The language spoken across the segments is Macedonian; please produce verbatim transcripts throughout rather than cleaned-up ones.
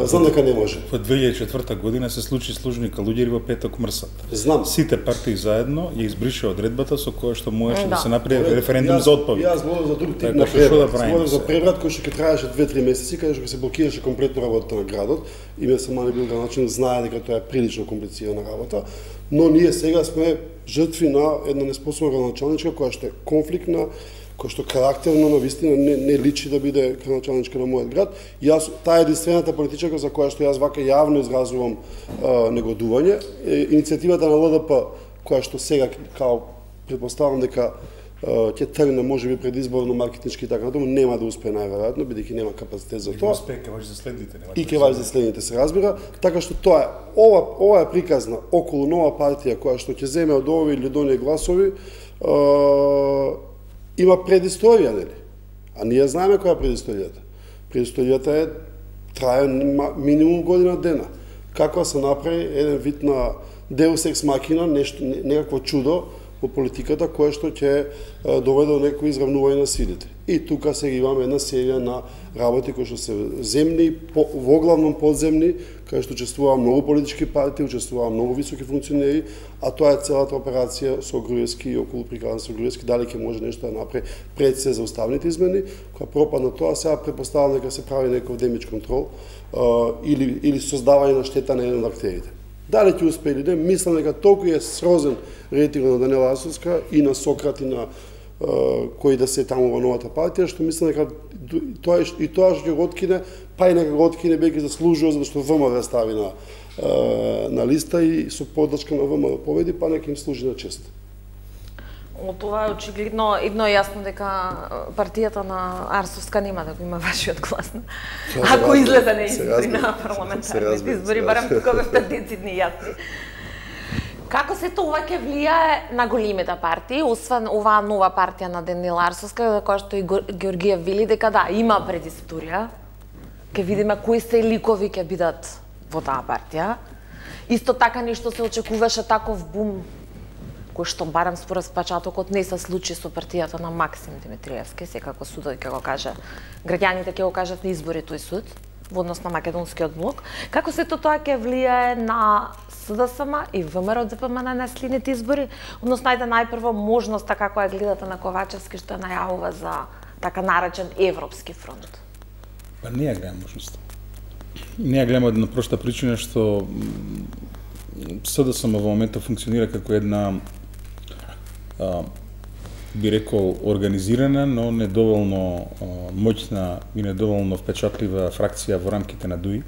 Знам дека не може. Во две илјади и четврта година се случи служника луѓери во петок мрсат. Знам. Сите партии заедно ја избриша одредбата со која што можеше да се направи референдум за отпавик. Јас зборам за друг тип на преврат. Зборам за преврат кој што ќе траеше две-три месеци, каде што се блокираше комплетно работата на градот. Име Самани бил градоначелник, знае дека тоа е прилично комплицирана работа, но ние сега сме жртви на една неспособна градоначалничка која што е конфликтна, кој што карактерно на вистина не, не личи да биде градоначалничка на мојот град. Јас таа е единствената политичарка за која што јас вака јавно изразувам а, негодување. Е, иницијативата на Л Д П која што сега као претпоставам дека ќе тргне можеби предизборно маркетиншки и така натаму, нема да успее најверојатно бидејќи нема капацитет за тоа. Успее ќе важи за следните, нема. И ќе важи за следните, се разбира, така што тоа е ова ова е приказна околу нова партија која што ќе земе од овие или од оние гласови, е, има предисторија, нели? А ние знаеме која е предисторијата. Предисторијата е трае минимум година дена. Како се направи еден вид на Deus ex machina, нешто некакво чудо во политиката која што ќе доведе до некој изравнување на силите. И тука сега имаме една серија на работи кои што се земни, по, воглавном подземни, кај што учествуваа многу политички партии, учествуваа многу високи функционери, а тоа е целата операција со Груевски и околу приказна со Груевски, дали ќе може нешто да направи пред се за уставните измени, кога пропадна тоа, сега претпоставам дека се прави некој демидж контрол или, или создавање на штета на еден од актерите. Дали ќе успее или не, мислам дека толку е срозен рейтинг на Даниела Арсовска и на Сократ и на uh, кои да се таму во новата партија, што мислам дека тоа и тоа што ќе го откине, па и нека го откине бејќи заслужува за што В М да стави на uh, на листа и со подршка на В М да победи, па нека им служи на чест. Од тоа е очигледно едно јасно дека партијата на Арсовска нема да го има вашиот глас. Ако излезе на избори на парламентарните избори, барем тука бевте децидни јасни. Како се тоа ќе влијае на големите партии, освен оваа нова партија на Даниела Арсовска, која што и Георгија вели дека да, има предисторија. Ќе видиме кои се ликови ќе бидат во таа партија. Исто така нешто се очекуваше таков бум кој што барем според печатокот не се случи со партијата на Максим Димитриевски, секако судот ќе го каже, граѓаните ќе го кажат на избори тој суд во однос на македонскиот блок. Како се тоа ќе влијае на С Д С М и В М Р Д П М на наследните избори, односно најде најпрво можноста како ја гледате на Ковачевски што ја најавува за така наречен Европски фронт? Па не ја гледам можноста. Не ја гледам од една проста причина што С Д С М во моментот функционира како една а, би рекол организирана, но недоволно а, моќна и недоволно впечатлива фракција во рамките на ДУИ.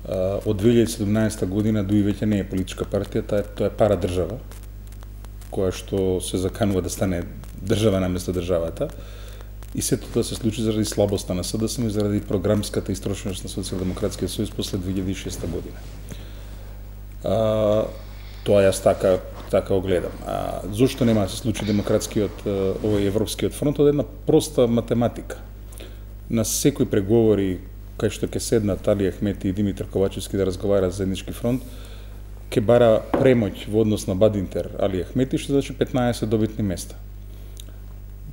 А, од две илјади и седумнаесета година ДУИ веќе не е политичка партија, тоа е, тоа е пара држава, која што се заканува да стане држава наместо државата. И сето тоа се случи заради слабоста на С Д С М и заради програмската истрошеност на Социјалдемократскиот сојуз после две илјади и шеста година. А, тоа јас така така го гледам. А зошто нема да се случи демократскиот овој европскиот фронт? Од една проста математика. На секои преговори кај што ќе седнат Али Ахмети и Димитар Ковачевски да разговараат за заеднички фронт, ќе бара премоќ во однос на Бадинтер Али Ахмети, што значи петнаесет добитни места.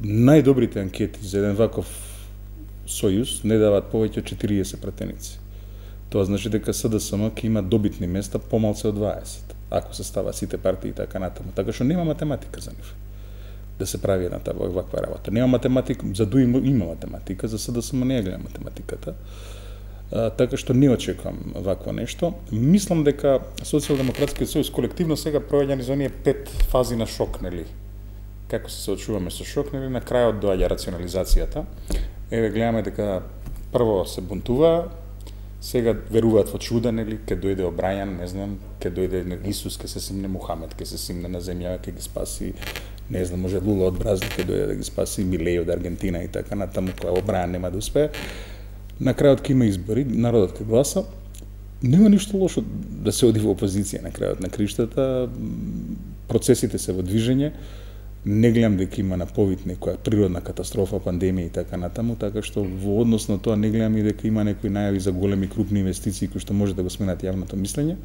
Најдобрите анкети за еден ваков сојуз не даваат повеќе од четириесет пратеници. Тоа значи дека С Д С М ќе има добитни места помалце од дваесет, ако се става сите партии и така натаму. Така што нема математика за нив да се прави една таа ваква работа. Нема математика, за ДУИ има математика, за С Д С М не ја гледам математиката. А, така што не очекувам вакво нешто. Мислам дека Социјалдемократскиот сојуз колективно сега проаѓа низ оние пет фази на шок, нели? Како се соочуваме со шок, нели? На крајот доаѓа рационализацијата. Еве гледаме дека прво се бунтува, сега веруваат во чуда, нели, ке дојде Обрајан, не знам, ке дојде Исус, ке се симне Мухамед, ке се симне на земја, ке ги спаси, не знам, може Лула од Бразил, ке дојде да ги спаси Милеј од Аргентина и така натаму, која Обрајан нема да успее. На крајот ке има избори, народот ке гласа. Нема ништо лошо да се оди во опозиција на крајот на криштата. Процесите се во движење. Не гледам дека има на повид некоја природна катастрофа, пандемија и така натаму, така што во однос на тоа не гледам и дека има некои најави за големи крупни инвестиции кои што може да го сменат јавното мислење.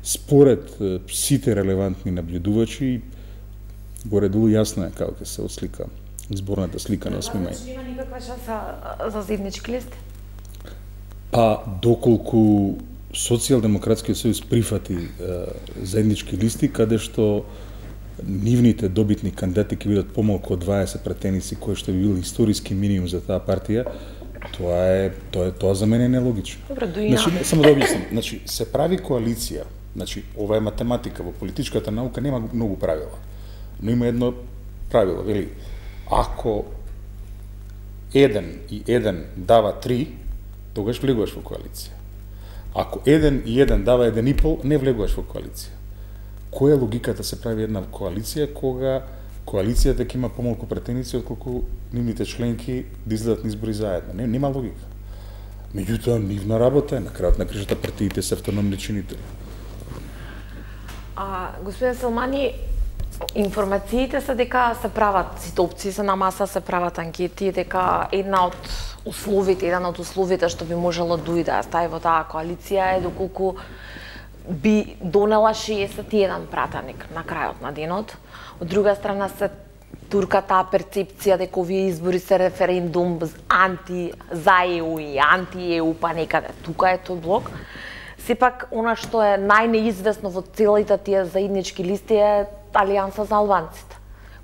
Според сите релевантни наблюдувачи, горе-долу јасно е како ќе се ослика изборната слика на осми мај. Значи нема никаква шанса за заеднички лист? Па доколку Социјалдемократскиот сојуз прифати е, заеднички листи каде што нивните добитни кандидати ќе бидат помалку од дваесет пратеници, кој што би бил историски минимум за таа партија, тоа е тоа е тоа за мене е нелогично. Добро, дуина. Значи, не, само да објаснам, значи се прави коалиција, значи ова е математика, во политичката наука нема многу правила. Но има едно правило, вели, ако еден и еден дава три, тогаш влегуваш во коалиција. Ако еден и еден дава еден и пол, не влегуваш во коалиција. Која е логиката се прави една коалиција кога коалицијата ќе има помалку пратеници отколку нивните членки да излезат на избори заедно? Не, нема логика. Меѓутоа, нивна работа е, на крајот на кришата партиите се автономни чинители. А, господин Селмани, информациите се дека се прават, сите опции се на маса, се прават анкети, дека една од условите, еден од условите што би можело дуи да стави во таа коалиција е доколку би донела шеесет и еден пратеник на крајот на денот. Од друга страна се турка таа перцепција дека овие избори се референдум анти за Е У и анти Е У, па некаде тука е тој блок. Сепак, она што е најнеизвестно во целите тие заеднички листи е Алијанса за албанците.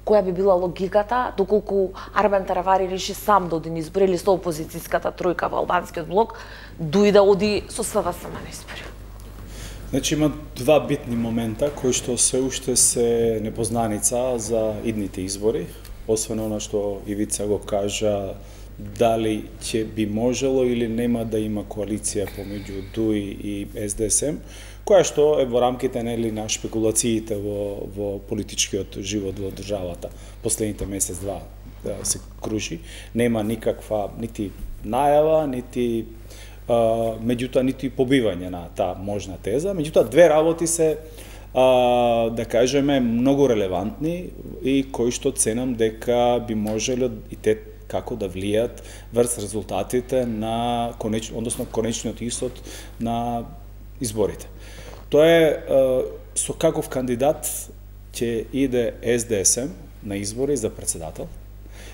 Која би била логиката, доколку Арбен Таравари реши сам да оди на избори или со опозицијската тројка во албанскиот блок, дуи да оди со С В С на избори? Значи има два битни момента кои што се уште се непознаница за идните избори, освен она што Ивица го кажа, дали ќе би можело или нема да има коалиција помеѓу Дуи и С Д С М, која што е во рамките нели на шпекулациите во во политичкиот живот во државата последните месец-два да се кружи. Нема никаква нити најава, нити Uh, меѓутоа нити побивање на таа можна теза. Меѓутоа две работи се uh, да кажеме многу релевантни и кои што ценам дека би можело и те како да влијат врз резултатите на конеч... односно конечниот исход на изборите. Тоа е uh, со каков кандидат ќе иде С Д С М на избори за председател.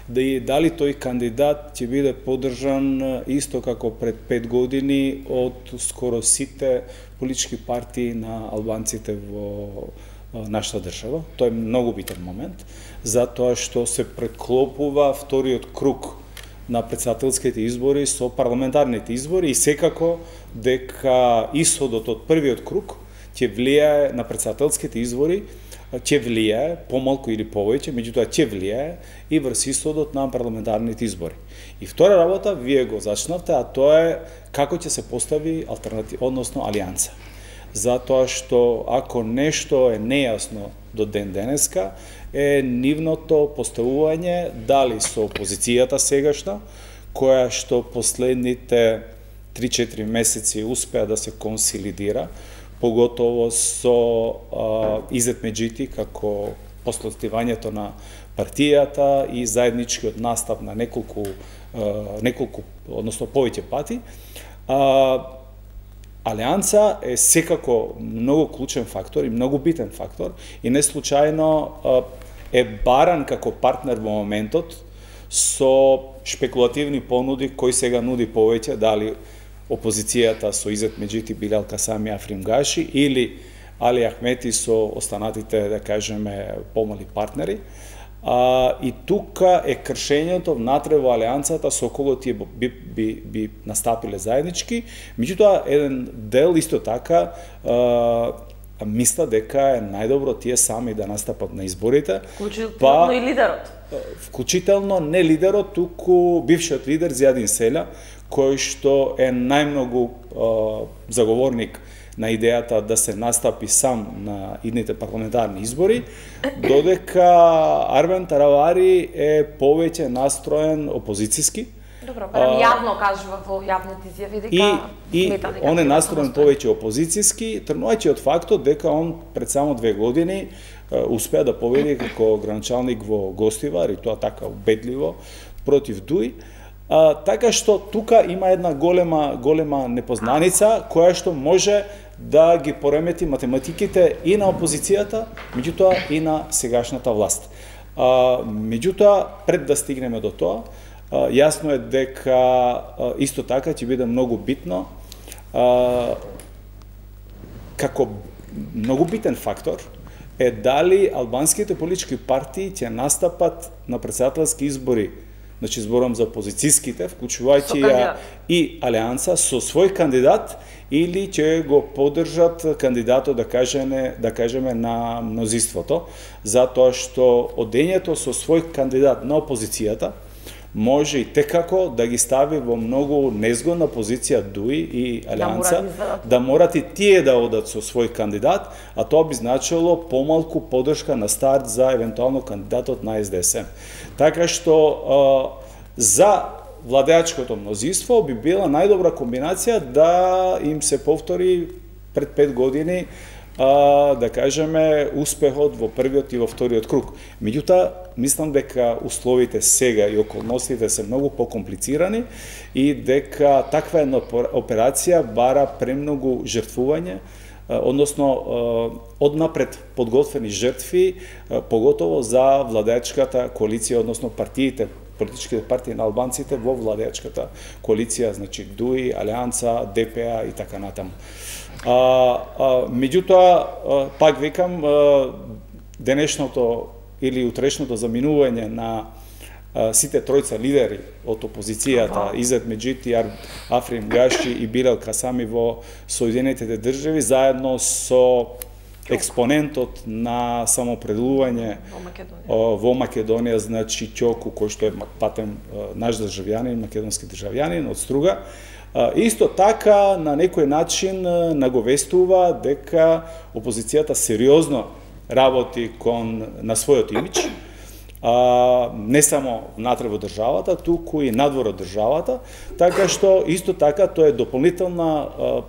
Да и дали тој кандидат ќе биде поддржан исто како пред пет години од скоро сите политички партии на албанците во нашата држава. Тоа е многу битен момент, затоа што се преклопува вториот круг на претседателските избори со парламентарните избори и секако дека исходот од првиот круг ќе влијае на претседателските избори, ќе влијае помалку или повеќе, меѓутоа ќе влијае и врз исходот на парламентарните избори. И втора работа, вие го зачнавте, а тоа е како ќе се постави алтернатива, односно алијанса. Затоа што ако нешто е нејасно до ден денеска, е нивното поставување дали со опозицијата сегашна, која што последните три-четири месеци успеа да се консолидира, поготово со а, Изет Меджити како послотивањето на партијата и заедничкиот настап на неколку, а, неколку односно повеќе пати. А, Алијанса е секако многу клучен фактор и многу битен фактор и не случајно а, е баран како партнер во моментот со шпекулативни понуди кои сега нуди повеќе, дали опозицијата со Изет Меджити, Билал Касами, Африм Гаши или Али Ахмети со останатите, да кажеме, помали партнери. А, и тука е кршењето внатре во алијансата со кого тие би, би, би настапиле заеднички. Меѓутоа, еден дел исто така а, мисла дека е најдобро тие сами да настапат на изборите. Вклучително па, и лидерот. Вклучително не лидерот, туку бившиот лидер Зијадин Селја, кој што е најмногу а, заговорник на идејата да се настапи сам на идните парламентарни избори, додека Арбен Таравари е повеќе настроен опозицијски. Добро, барем јавно кажува во јавните изјави дека и, и он е настроен повеќе опозицијски, тргнувајќи од фактот дека он пред само две години успеа да победи како граначалник во Гостивар и тоа така убедливо против Дуи. А, така што тука има една голема голема непознаница која што може да ги поремети математиките и на опозицијата, меѓутоа и на сегашната власт. А, меѓутоа, пред да стигнеме до тоа, Јасно е дека исто така ќе биде многу битно, како многу битен фактор е дали албанските политички партии ќе настапат на претседателски избори, значи зборам за опозицијските, вклучувајќи ја и Алијанса со свој кандидат, или ќе го поддржат кандидатот, да кажеме, да кажеме на мнозинството, затоа што одењето со свој кандидат на опозицијата може и текако да ги стави во многу незгодна позиција Дуи и Алијанса, да, да морат и тие да одат со свој кандидат, а тоа би значило помалку поддршка на старт за евентуално кандидатот на Ес Де Ес Ем. Така што за владеачкото мнозинство би била најдобра комбинација да им се повтори пред пет години, а, да кажеме, успехот во првиот и во вториот круг. Меѓутоа, мислам дека условите сега и околностите се многу покомплицирани и дека таква една операција бара премногу жртвување, односно однапред подготвени жртви, поготово за владеачката коалиција, односно партиите, политичките партии на албанците во владеачката коалиција, значи Дуи, Алијанса, Де Пе А и така натаму. А, а, меѓутоа, пак викам, денешното или утрешното заминување на а, сите тројца лидери од опозицијата, Изет Меджити, Африм Гаши и Билел Касами во Соединетите држави, заедно со експонентот на самопределување во Македонија, во Македонија, значи Ќоку, кој што е патен наш државјанин, македонски државјанин од Струга, исто така на некој начин наговестува дека опозицијата сериозно работи кон на својот имидж, не само внатре во државата, туку и надвор од државата, така што исто така тоа е дополнителна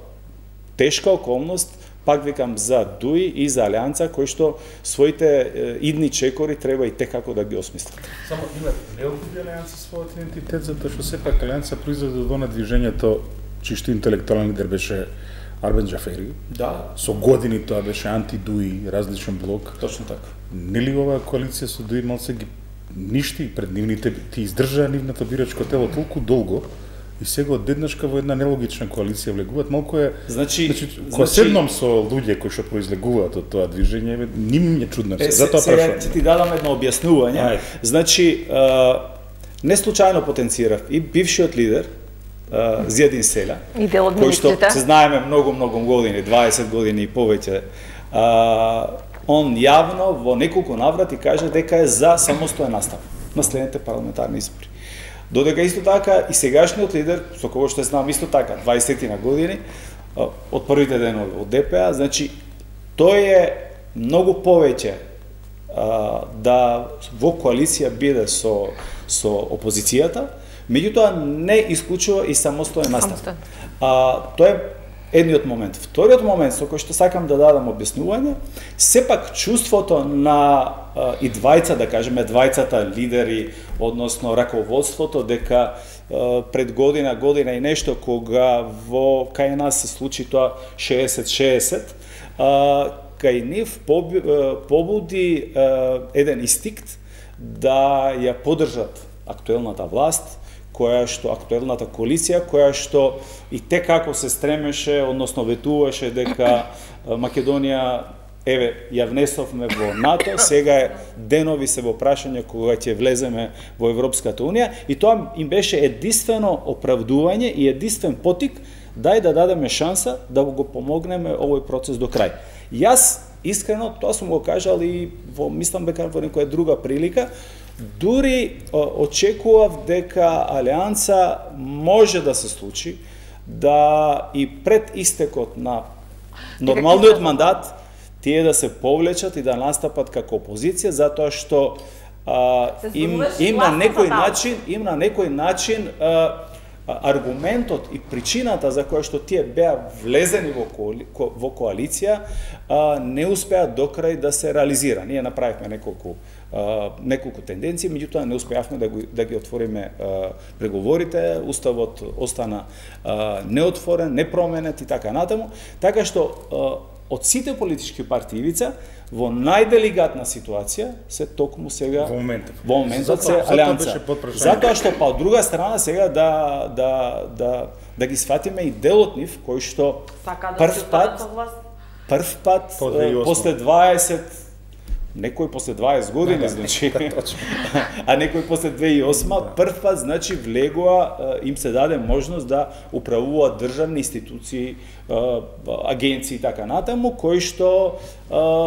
тешка околност, пак викам, за Дуи и за Алијанса, кои што своите идни чекори треба и текако да ги осмислат. Само има необходи Алијанса својот идентитет, затоа што сепак Алијанса произлезе од она движењето чишто интелектуален лидер беше Арбен Џафери. Да. Со години тоа беше анти-Дуи, различен блок. Точно така. Нели оваа коалиција со Дуи малце ги ништи пред нивните, ти издржаа нивната бирачко тело толку долго, и сега одеднашка во една нелогична коалиција влегуваат, малку е... Значи, значи кога значи... седнам со луѓе кои што произлегуваат од тоа движење, ним е чудно се. Затоа прашувам. Сега ќе ти дадам едно објаснување. Ај. Значи, а, не случајно потенцирав и бившиот лидер а, Зијадин Селја, кој што се знаеме многу многу години, дваесет години и повеќе. А, он јавно во неколку наврати кажа дека е за самостоен настап на следните парламентарни избори. Додека исто така и сегашниот лидер, со кого што знам исто така, дваесет години, од првите денови од Де Пе А, значи, тој е многу повеќе а, да во коалиција биде со, со опозицијата, меѓутоа не исклучува и самостоен настап. А, тоа е едниот момент. Вториот момент, со кој што сакам да дадам објаснување, сепак чувството на а, и двајца, да кажеме, двајцата лидери, односно раководството, дека а, пред година, година и нешто, кога во кај нас се случи тоа шеесет шеесет, а, кај нив побуди а, еден инстинкт да ја поддржат актуелната власт, која што актуелната коалиција, која што и текако се стремеше, односно ветуваше дека Македонија, еве, ја внесовме во НАТО, сега е денови се во прашање кога ќе влеземе во Европската Унија, и тоа им беше единствено оправдување и единствен потик дај да дадеме шанса да го помогнеме овој процес до крај. Јас искрено тоа сум го кажал и во мислам дека во некоја друга прилика, дури очекував дека Алијанса може да се случи да и пред истекот на нормалниот мандат тие да се повлечат и да настапат како опозиција, затоа што а, им, им на некој начин, им на некој начин а, аргументот и причината за која што тие беа влезени во, коали, во коалиција а, не успеа до крај да се реализира. Ние направивме неколку Uh, неколку тенденции, меѓутоа не успеавме да, го, да ги отвориме uh, преговорите, уставот остана uh, неотворен, непроменет и така натаму, така што uh, од сите политички партии Ивица, во најделигатна ситуација се токму сега во моментот. Во моментот се алијанса. Затоа што па од друга страна сега да да да да ги сватиме и делот нив кој што прв пат прв пат после дваесет некој после дваесет години, значи, а некој после две илјади и осма, прв пат, значи, влегува, им се даде можност да управуваат државни институции, агенции и така натаму, кои што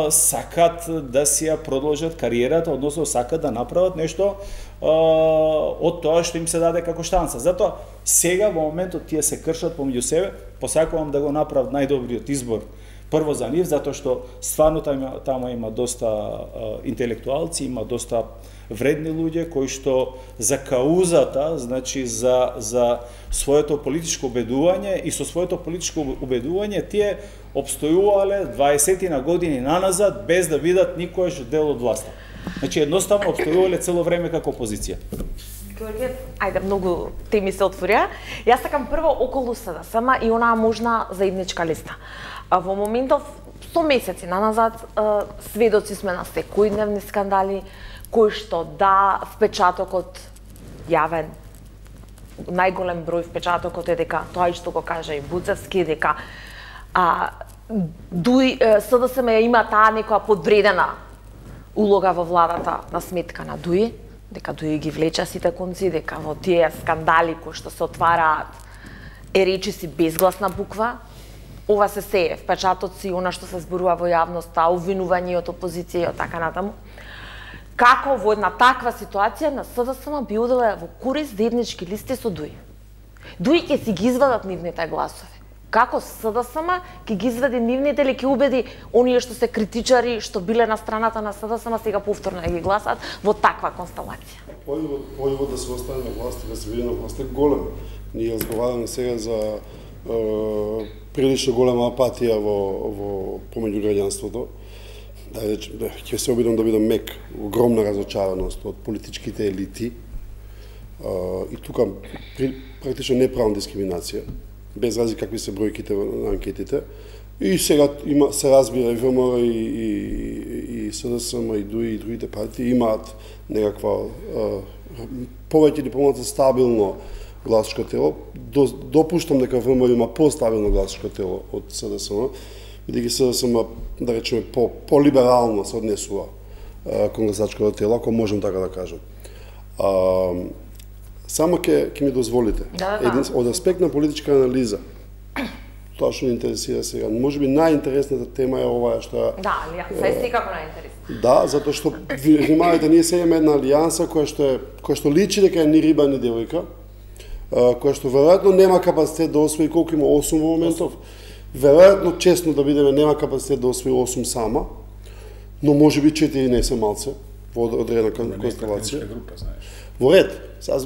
сакат да си ја продолжат кариерата, односно сакат да направат нешто од тоа што им се даде како штанца. Затоа, сега, во моментот, тие се кршат помеѓу себе, посакувам да го направат најдобриот избор прво за нив, затоа што стварно тама, тама има доста а, интелектуалци, има доста вредни луѓе кои што за каузата, значи за за своето политичко убедување и со своето политичко убедување тие обстојувале дваесетина години наназад без да бидат никош дел од власта. Значи едноставно обстојувале цело време како опозиција. Георгије, ајде, многу теми се отворија. Јас сакам прво околу СДСМ и онаа можна заедничка листа. А во моментов, сто месеци наназад, сведоци сме на секојдневни скандали, кои што да, впечатокот јавен, најголем број впечатокот е дека тоа и што го кажа и Буцевски, дека а, дуи, СДСМ има таа некоја подвредена улога во владата на сметка на Дуи, дека Дуи ги влеча сите конци, дека во тие скандали кои што се отвараат е речиси безгласна буква. Ова се се впечатоци, она што се зборува во јавноста, обвинување од опозиција и од така натаму. Како во една таква ситуација на СДСМ би оделе во корист заеднички листи со Дуи. Дуи ќе си ги извадат нивните гласови. Како СДСМ ќе ги извади нивните или ќе убеди оние што се критичари, што биле на страната на СДСМ, сега повторно да ги гласат во таква констелација? Појавот да се остане на власт и да се биде на власт е голем. Ние разговараме сега за е, прилично голема апатија во, во помеѓу граѓанството. Да речем, да, ќе се обидам да бидам мек, огромна разочараност од политичките елити. Е, и тука при, практично не правам дискриминација, без разлика какви се бројките на анкетите. И сега има, се разбира и ВМРО и, и, и СДСМ и ДУИ и другите партии имаат некаква повеќе или помалку стабилно гласачко тело. До, допуштам дека ВМРО има постабилно гласачко тело од СДСМ, бидејќи СДСМ, да речеме, по, по-либерално се однесува кон гласачкото тело, ако можем така да кажам. А, само ќе ќе ми дозволите. Да, да. Един, од аспект на политичка анализа, тоа што ни интересира сега, можеби најинтересната тема е оваа што Да, алијанса е секако најинтересна. Да, затоа што внимавајте, ние сега имаме една алијанса која што е која што личи дека е ни риба ни девојка, која што веројатно нема капацитет да освои колку има осум во моментов. Веројатно честно да бидеме нема капацитет да освои осум сама, но можеби четири не се малце во одредена констелација. Во ред, сега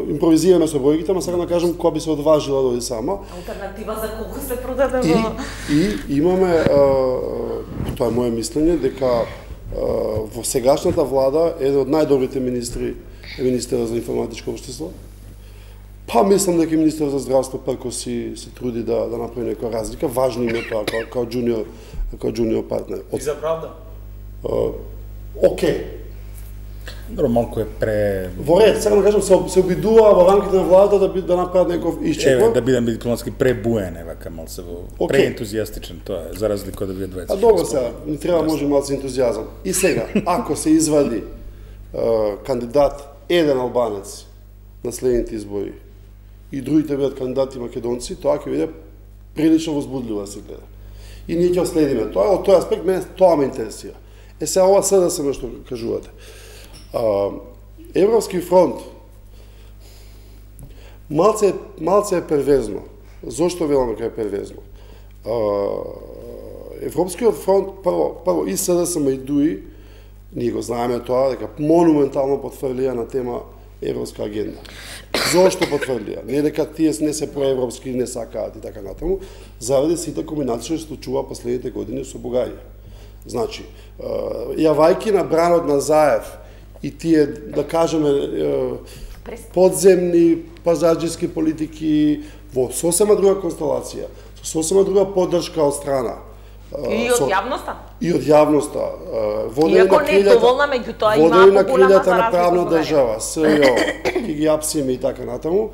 импровизираме со бројките, ама сега да кажам која би се одважила да оди сама. Алтернатива за колку се продаде И, во... и имаме, а, тоа е моје мислење, дека а, во сегашната влада еден од најдобрите министри е министерот за информатичко општество. Па мислам дека министерот за здравство прко си се труди да да направи некоја разлика, важно им е тоа као, као джуниор, као джуниор партнер. И за правда? А, Океј. Добро, малку е пре... Во ред, сега да кажам, се, се обидува во рамките на владата да, би, да направат некој исчекор. Еве, да бидам дипломатски пребуен, евака, малце во... Okay. Преентузијастичен, тоа е, за разлика од да биде дваесет. А добро сега, ни треба може малце ентузијазам. И сега, ако се извади uh, кандидат еден албанец на следните избори и другите бидат кандидати македонци, тоа ќе биде прилично возбудливо да се гледа. И ние ќе следиме тоа, од тој аспект мене тоа ме интересира. Е сега ова СДСМ што кажувате. А, Европски фронт малце, малце е перверзно. Зошто велам дека е перверзно? А, Европскиот фронт, прво, прво и СДСМ и ДУИ, ние го знаеме тоа, дека монументално потврдија на тема Европска агенда. Зошто потврдија? Не дека тие не се проевропски, не сакаат и така натаму, заради сите комбинации што случува последните години со Бугарија. Значи, јавајки на бранот на Заев и тие, да кажеме, подземни пазарџиски политики во сосема друга констелација, со сосема друга поддршка од страна И од јавноста? И од јавноста. Водени Иако не е доволна, меѓутоа има на поголема за на правна држава, СЈО, и ги апсиме и така натаму.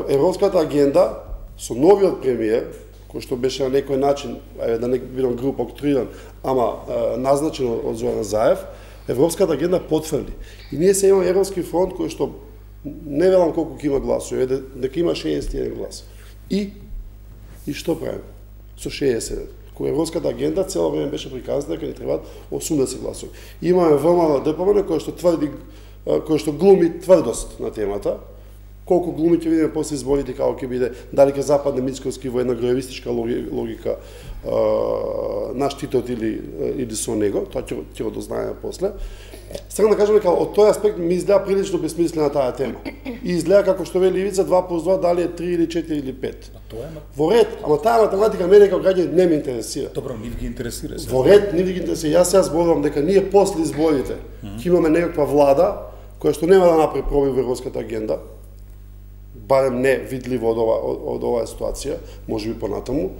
Европската агенда со новиот премиер, кој што беше на некој начин, да не бидам груб октриран, ама назначен од Зоран Заев, Европската агенда потврди. И ние се имаме Европски фронт кој што не велам колку ќе има гласови, дека има шеесет и еден глас. И и што правиме со шеесет и еден? Кој Европската агенда цело време беше приказана дека ни требаат осумдесет гласови. Имаме ВМРО ДПМН кој што тврди, кој што глуми тврдост на темата. Колку глуми ќе видиме после изборите како ќе биде, дали ќе западне Мицковски во една гроевистичка логика на штитот или или со него, тоа ќе ќе го дознаеме после. Сега да кажам дека од тој аспект ми изгледа прилично бесмислена таа тема. И изгледа како што вели Ивица два плюс два дали е три или четири или пет. А тоа е во ред, ама таа математика мене како граѓанин не ме интересира. Добро, нив ги интересира. Во ред, нив ги интересира. Јас сега зборувам дека ние после изборите ќе имаме некаква влада која што нема да направи пробив во европската агенда, барем не видливо од ова од, од оваа ситуација, можеби понатаму.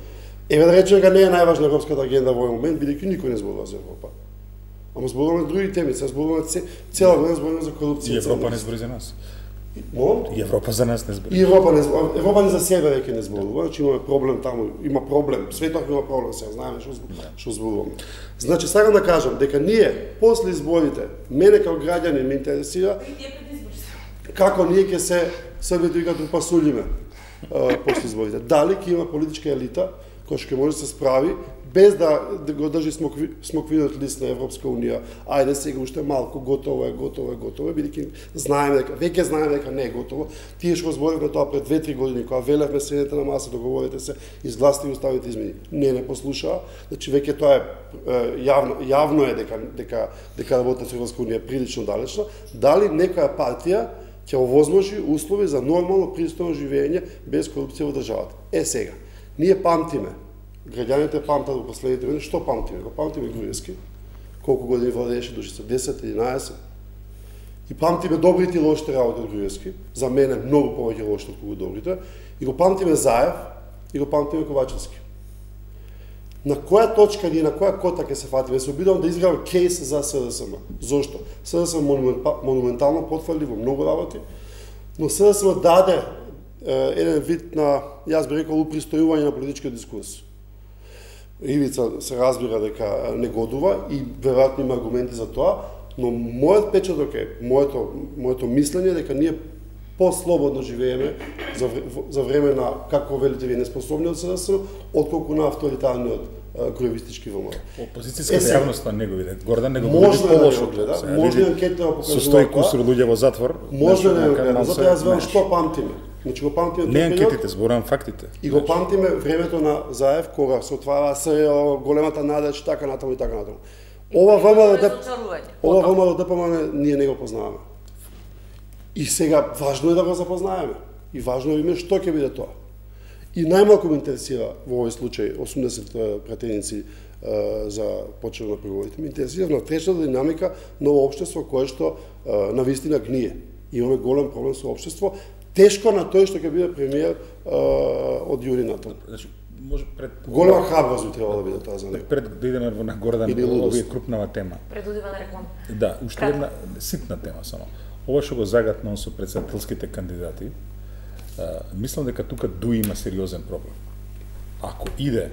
Еве да речеме дека не е најважна европската агенда во овој момент, бидејќи никој не зборува за Европа. Ама зборуваме за други теми, сега зборуваме цела година зборуваме за корупција. И Европа не збори за нас. Мол? И Европа за нас не збори. И Европа не збори. Европа не за себе веќе не зборува, значи имаме проблем таму, има проблем, светот има проблем, сега знаеме што што зборуваме. Значи сакам да кажам дека ние после изборите, мене како граѓанин ме интересира како ние ќе се Србите вика трупа сулиме после изборите. Дали ќе има политичка елита која што ќе може да се справи без да, да го држи смокви, смоквиниот лист на Европска унија. Ајде сега уште малку, готово е, готово е, готово е, бидејќи знаеме дека веќе знаеме дека не е готово. Тие што зборивме тоа пред две-три години кога велевме седнете на маса, договорите се, изгласите и уставите измени. Не не послушаа. Значи веќе тоа е јавно јавно е дека дека дека работата со Европска унија е прилично далечна. Дали некоја партија ќе овозможи услови за нормално пристојно живење без корупција во државата. Е сега, ние памтиме, граѓаните памтат во последните години, што памтиме? Го памтиме Груевски, колку години владееше Душица, десет, единаесет. И памтиме добрите и лошите работи од Груевски, за мене многу повеќе лошите од колку добрите, и го памтиме Заев, и го памтиме Ковачевски. На која точка ние, на која кота ќе се фатиме? Се обидувам да изградам кейс за СДСМ. Зошто? СДСМ монументално потфрли во многу работи, но СДСМ даде е, еден вид на, јас би рекол, упристојување на политичкиот дискурс. Ивица се разбира дека не годува и веројатно има аргументи за тоа, но мојот печаток е, моето, моето мислење дека ние по-слободно живееме за, за време на, како велите вие, неспособниот СДСМ, отколку на авторитарниот кроевистички ВМРО. Опозицијската е, јавност не го виде. Гордан не го види по-лошо гледа. Може да анкетите да покажуваат. Со стои кусур луѓе во затвор. Може да не гледа. Затоа јас велам што памтиме. Значи го памтиме не анкетите, зборувам фактите. И го памтиме времето на Заев кога се отвара СЈО, големата надеж, така натаму и така натаму. Ова ВМРО Ова ВМРО ДПМН ние не го познаваме. И сега важно е да го запознаеме. И важно е име што ќе биде тоа. И најмалку ме интересира во овој случај осумдесет пратеници за почнување на преговорите. Ме интересира внатрешната динамика на општество кое што на вистина гние. Имаме голем проблем со општество. Тешко на тој што ќе биде премиер од јуни натаму. Значи, може пред голема храброст би требало да биде тоа за него. Пред да идеме на Гордан, овие крупнава тема. Предудивана реклама. Да, уште една ситна тема само. Ова што го загатна со претседателските кандидати, а, мислам дека тука Дуи има сериозен проблем. Ако иде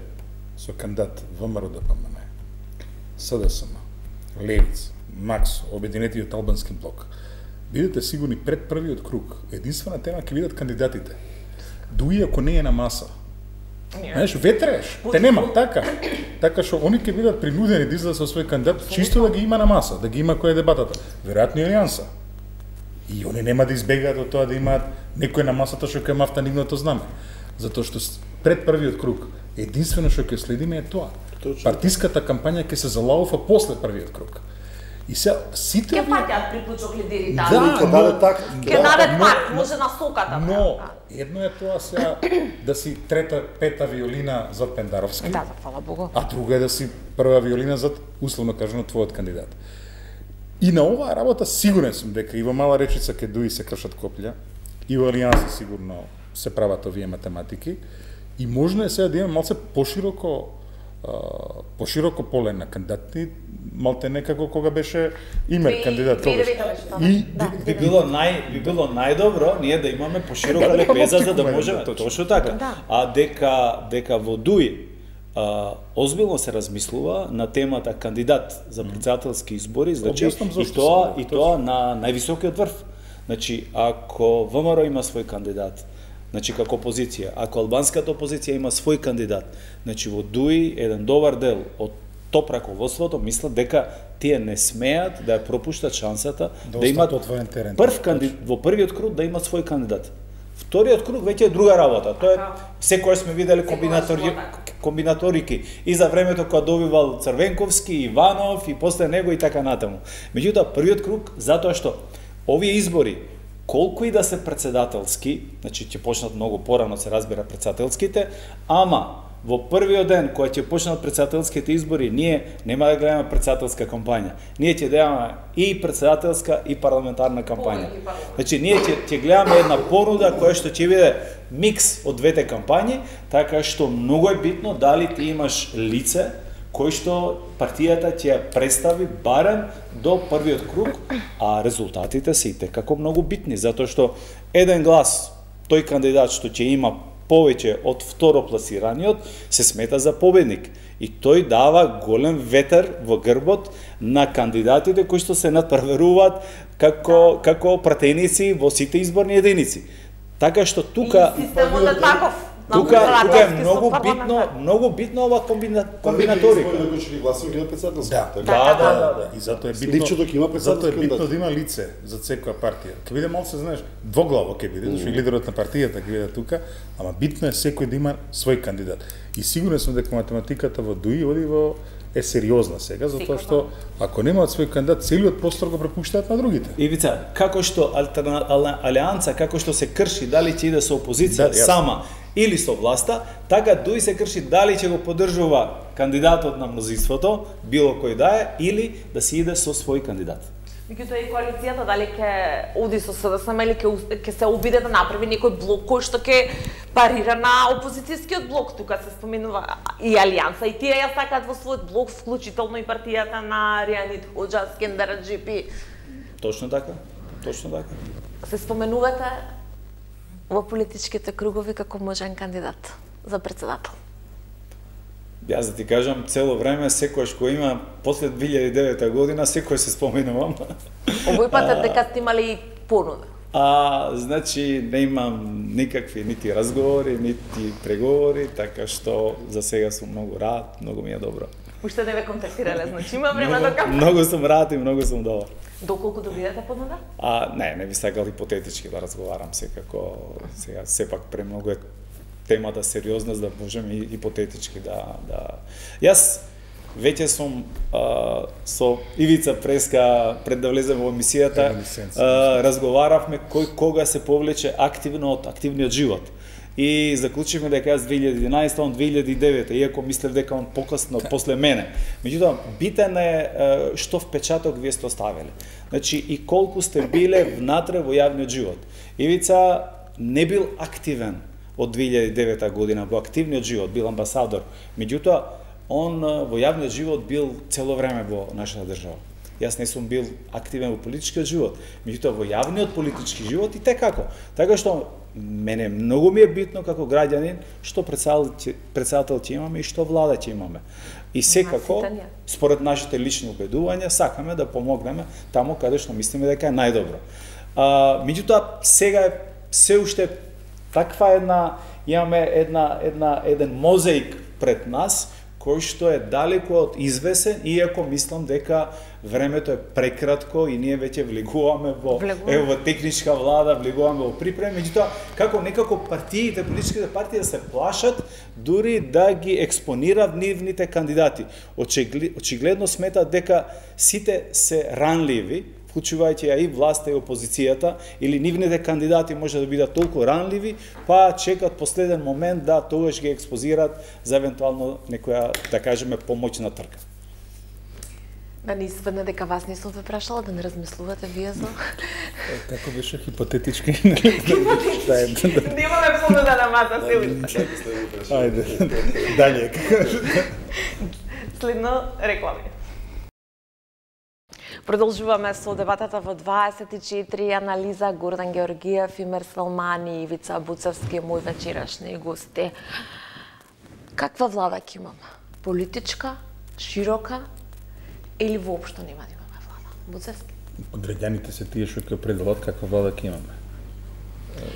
со кандидат ВМРО ДПМН, СДСМ, Левица, Макс, Обединетиот албански блок, бидете сигурни пред првиот круг, единствена тема ќе бидат кандидатите. Дуи ако не е на маса, знаеш, ветреш, те нема, така. Така што они ќе бидат принудени да излезат со свој кандидат, чисто да ги има на маса, да ги има која е дебатата. Веројатно и алијанса. И они нема да избегаат од тоа да имаат некој на масата што ќе мафта нивното знаме. Затоа што пред првиот круг, единствено што ќе следиме е тоа. Точно. Партиската кампања ќе се залауфа после првиот круг. И се сите ќе паѓаат приклучок лидерите. Да, ќе даде так. Ќе даде так, може на соката. Но едно е тоа сега да си трета, пета виолина зад Пендаровски. Да, фала Богу. А друга е да си прва виолина зад, условно кажано, твојот кандидат. И на оваа работа сигурен сум дека и во Мала Речица ке Дуи се кршат коплја, и во Алијанса сигурно се прават овие математики, И можно е сега да имаме малце пошироко пошироко поле на кандидати, малте некако кога беше Имер кандидат тогаш. И би било нај би било најдобро ние да имаме поширока лепеза за да можеме точно така. А дека дека во Дуи а, озбилно се размислува на темата кандидат за претседателски избори, значи и тоа и тоа на највисокиот врв. Значи ако ВМРО има свој кандидат, значи како опозиција, ако албанската опозиција има свој кандидат, значи во Дуи еден добар дел од топ раководството мислат дека тие не смеат да ја пропуштат шансата да, да имат прв кандидат во првиот круг да имат свој кандидат. Вториот круг веќе е друга работа. Тоа е секој сме виделе комбинатори комбинаторики и за времето кога добивал Црвенковски, Иванов и после него и така натаму. Меѓутоа првиот круг затоа што овие избори колку и да се претседателски, значи ќе почнат многу порано се разбира претседателските, ама во првиот ден кога ќе почнат претседателските избори, ние нема да гледаме претседателска кампања. Ние ќе гледаме и претседателска и парламентарна кампања. Значи ние ќе ќе гледаме една понуда која што ќе биде микс од двете кампањи, така што многу е битно дали ти имаш лице кој што партијата ќе ја представи барем до првиот круг, а резултатите се и како многу битни, затоа што еден глас тој кандидат што ќе има повеќе од второпласираниот се смета за победник и тој дава голем ветер во грбот на кандидатите кои што се надпреваруваат како како пратеници во сите изборни единици. Така што тука и системот е таков. Тука, тука е многу битно, многу битно ова комбина, комбинаторика. Кои ќе гласува ги на претседателски. Да, да, да, да. И затоа е битно. Лично дека има затоа е битно да има лице за секоја партија. Ке биде малку се знаеш, двоглаво ке биде, зашто лидерот на партијата ќе биде тука, ама битно е секој да има свој кандидат. И сигурен сум дека математиката во Дуи оди во е сериозна сега, затоа што ако немаат свој кандидат, целиот простор го препуштаат на другите. Ивица, како што алтерна, алијанса, како што се крши дали ќе иде со опозиција да, сама или со власта, така Дуи се крши дали ќе го поддржува кандидатот на мнозинството, било кој да е, или да се иде со свој кандидат. Меѓутоа и коалицијата дали ќе оди со СДСМ или ќе ќе се обиде да направи некој блок кој што ќе парира на опозицијскиот блок, тука се споменува и Алијанса и тие ја сакаат во својот блок, вклучително и партијата на Ријанит Хоџа, Скендер Аџипи. Точно така, точно така. Се споменувате во политичките кругови како можен кандидат за претседател. Јас да ти кажам, цело време, секојаш кој има после две илјади и девета година, секој се споменувам. Овој пат е дека сте имали понуда. А, значи, не имам никакви нити разговори, нити преговори, така што за сега сум многу рад, многу ми е добро. Уште не ве контактирале, значи има време до кампања. Многу сум рад и многу сум добар. Доколку добиете понуда? А, не, не би сакал хипотетички да разговарам секако, сега сепак премногу е темата сериозна, за да можеме и хипотетички да да. Јас веќе сум а, со Ивица Преска пред да влезем во емисијата, а, разговаравме кој кога се повлече активно од активниот живот. И заклучивме дека јас две илјади и единаесета, он две илјади и девета, иако мислев дека он покасно после мене. Меѓутоа, битен е што впечаток вие сте оставиле. Значи и колку сте биле внатре во јавниот живот. Ивица не бил активен од две илјади и девета година во активниот живот, бил амбасадор. Меѓутоа, он во јавниот живот бил цело време во нашата држава. Јас не сум бил активен во политичкиот живот, меѓутоа во јавниот политички живот и те како. Така што мене многу ми е битно како граѓанин што претседател ќе имаме и што влада ќе имаме. И секако, според нашите лични убедувања, сакаме да помогнеме таму каде што мислиме дека е најдобро. А, меѓутоа, сега е се уште таква една, имаме една, една, еден мозаик пред нас, кој што е далеко од извесен, иако мислам дека времето е прекратко и ние веќе влегуваме во, ево, во техничка влада, влегуваме во припреми, меѓутоа, како некако партиите, политичките партии да се плашат, дури да ги експонираат нивните кандидати. Очигледно сметат дека сите се ранливи, вклучувајќи ја и власта и опозицијата, или нивните кандидати може да бидат толку ранливи, па чекат последен момент да тогаш ги експозираат за евентуално некоја, да кажеме, помоќна трка. Да не испадне дека вас не сум ве прашала, да не размислувате вие за... Како беше хипотетички? Немаме понуда на маса, се уште. Ајде, далje. Следно реклами. Продолжуваме со дебатата во дваесет и четири, анализа Гордан Георгиев, Имер Салмани и Ивица Буцевски, мои вечерашни гости. Каква влада ќе имаме? Политичка, широка или воопшто нема да имаме влада? Буцевски? Граѓаните се тие што ќе определат каква влада ќе имаме.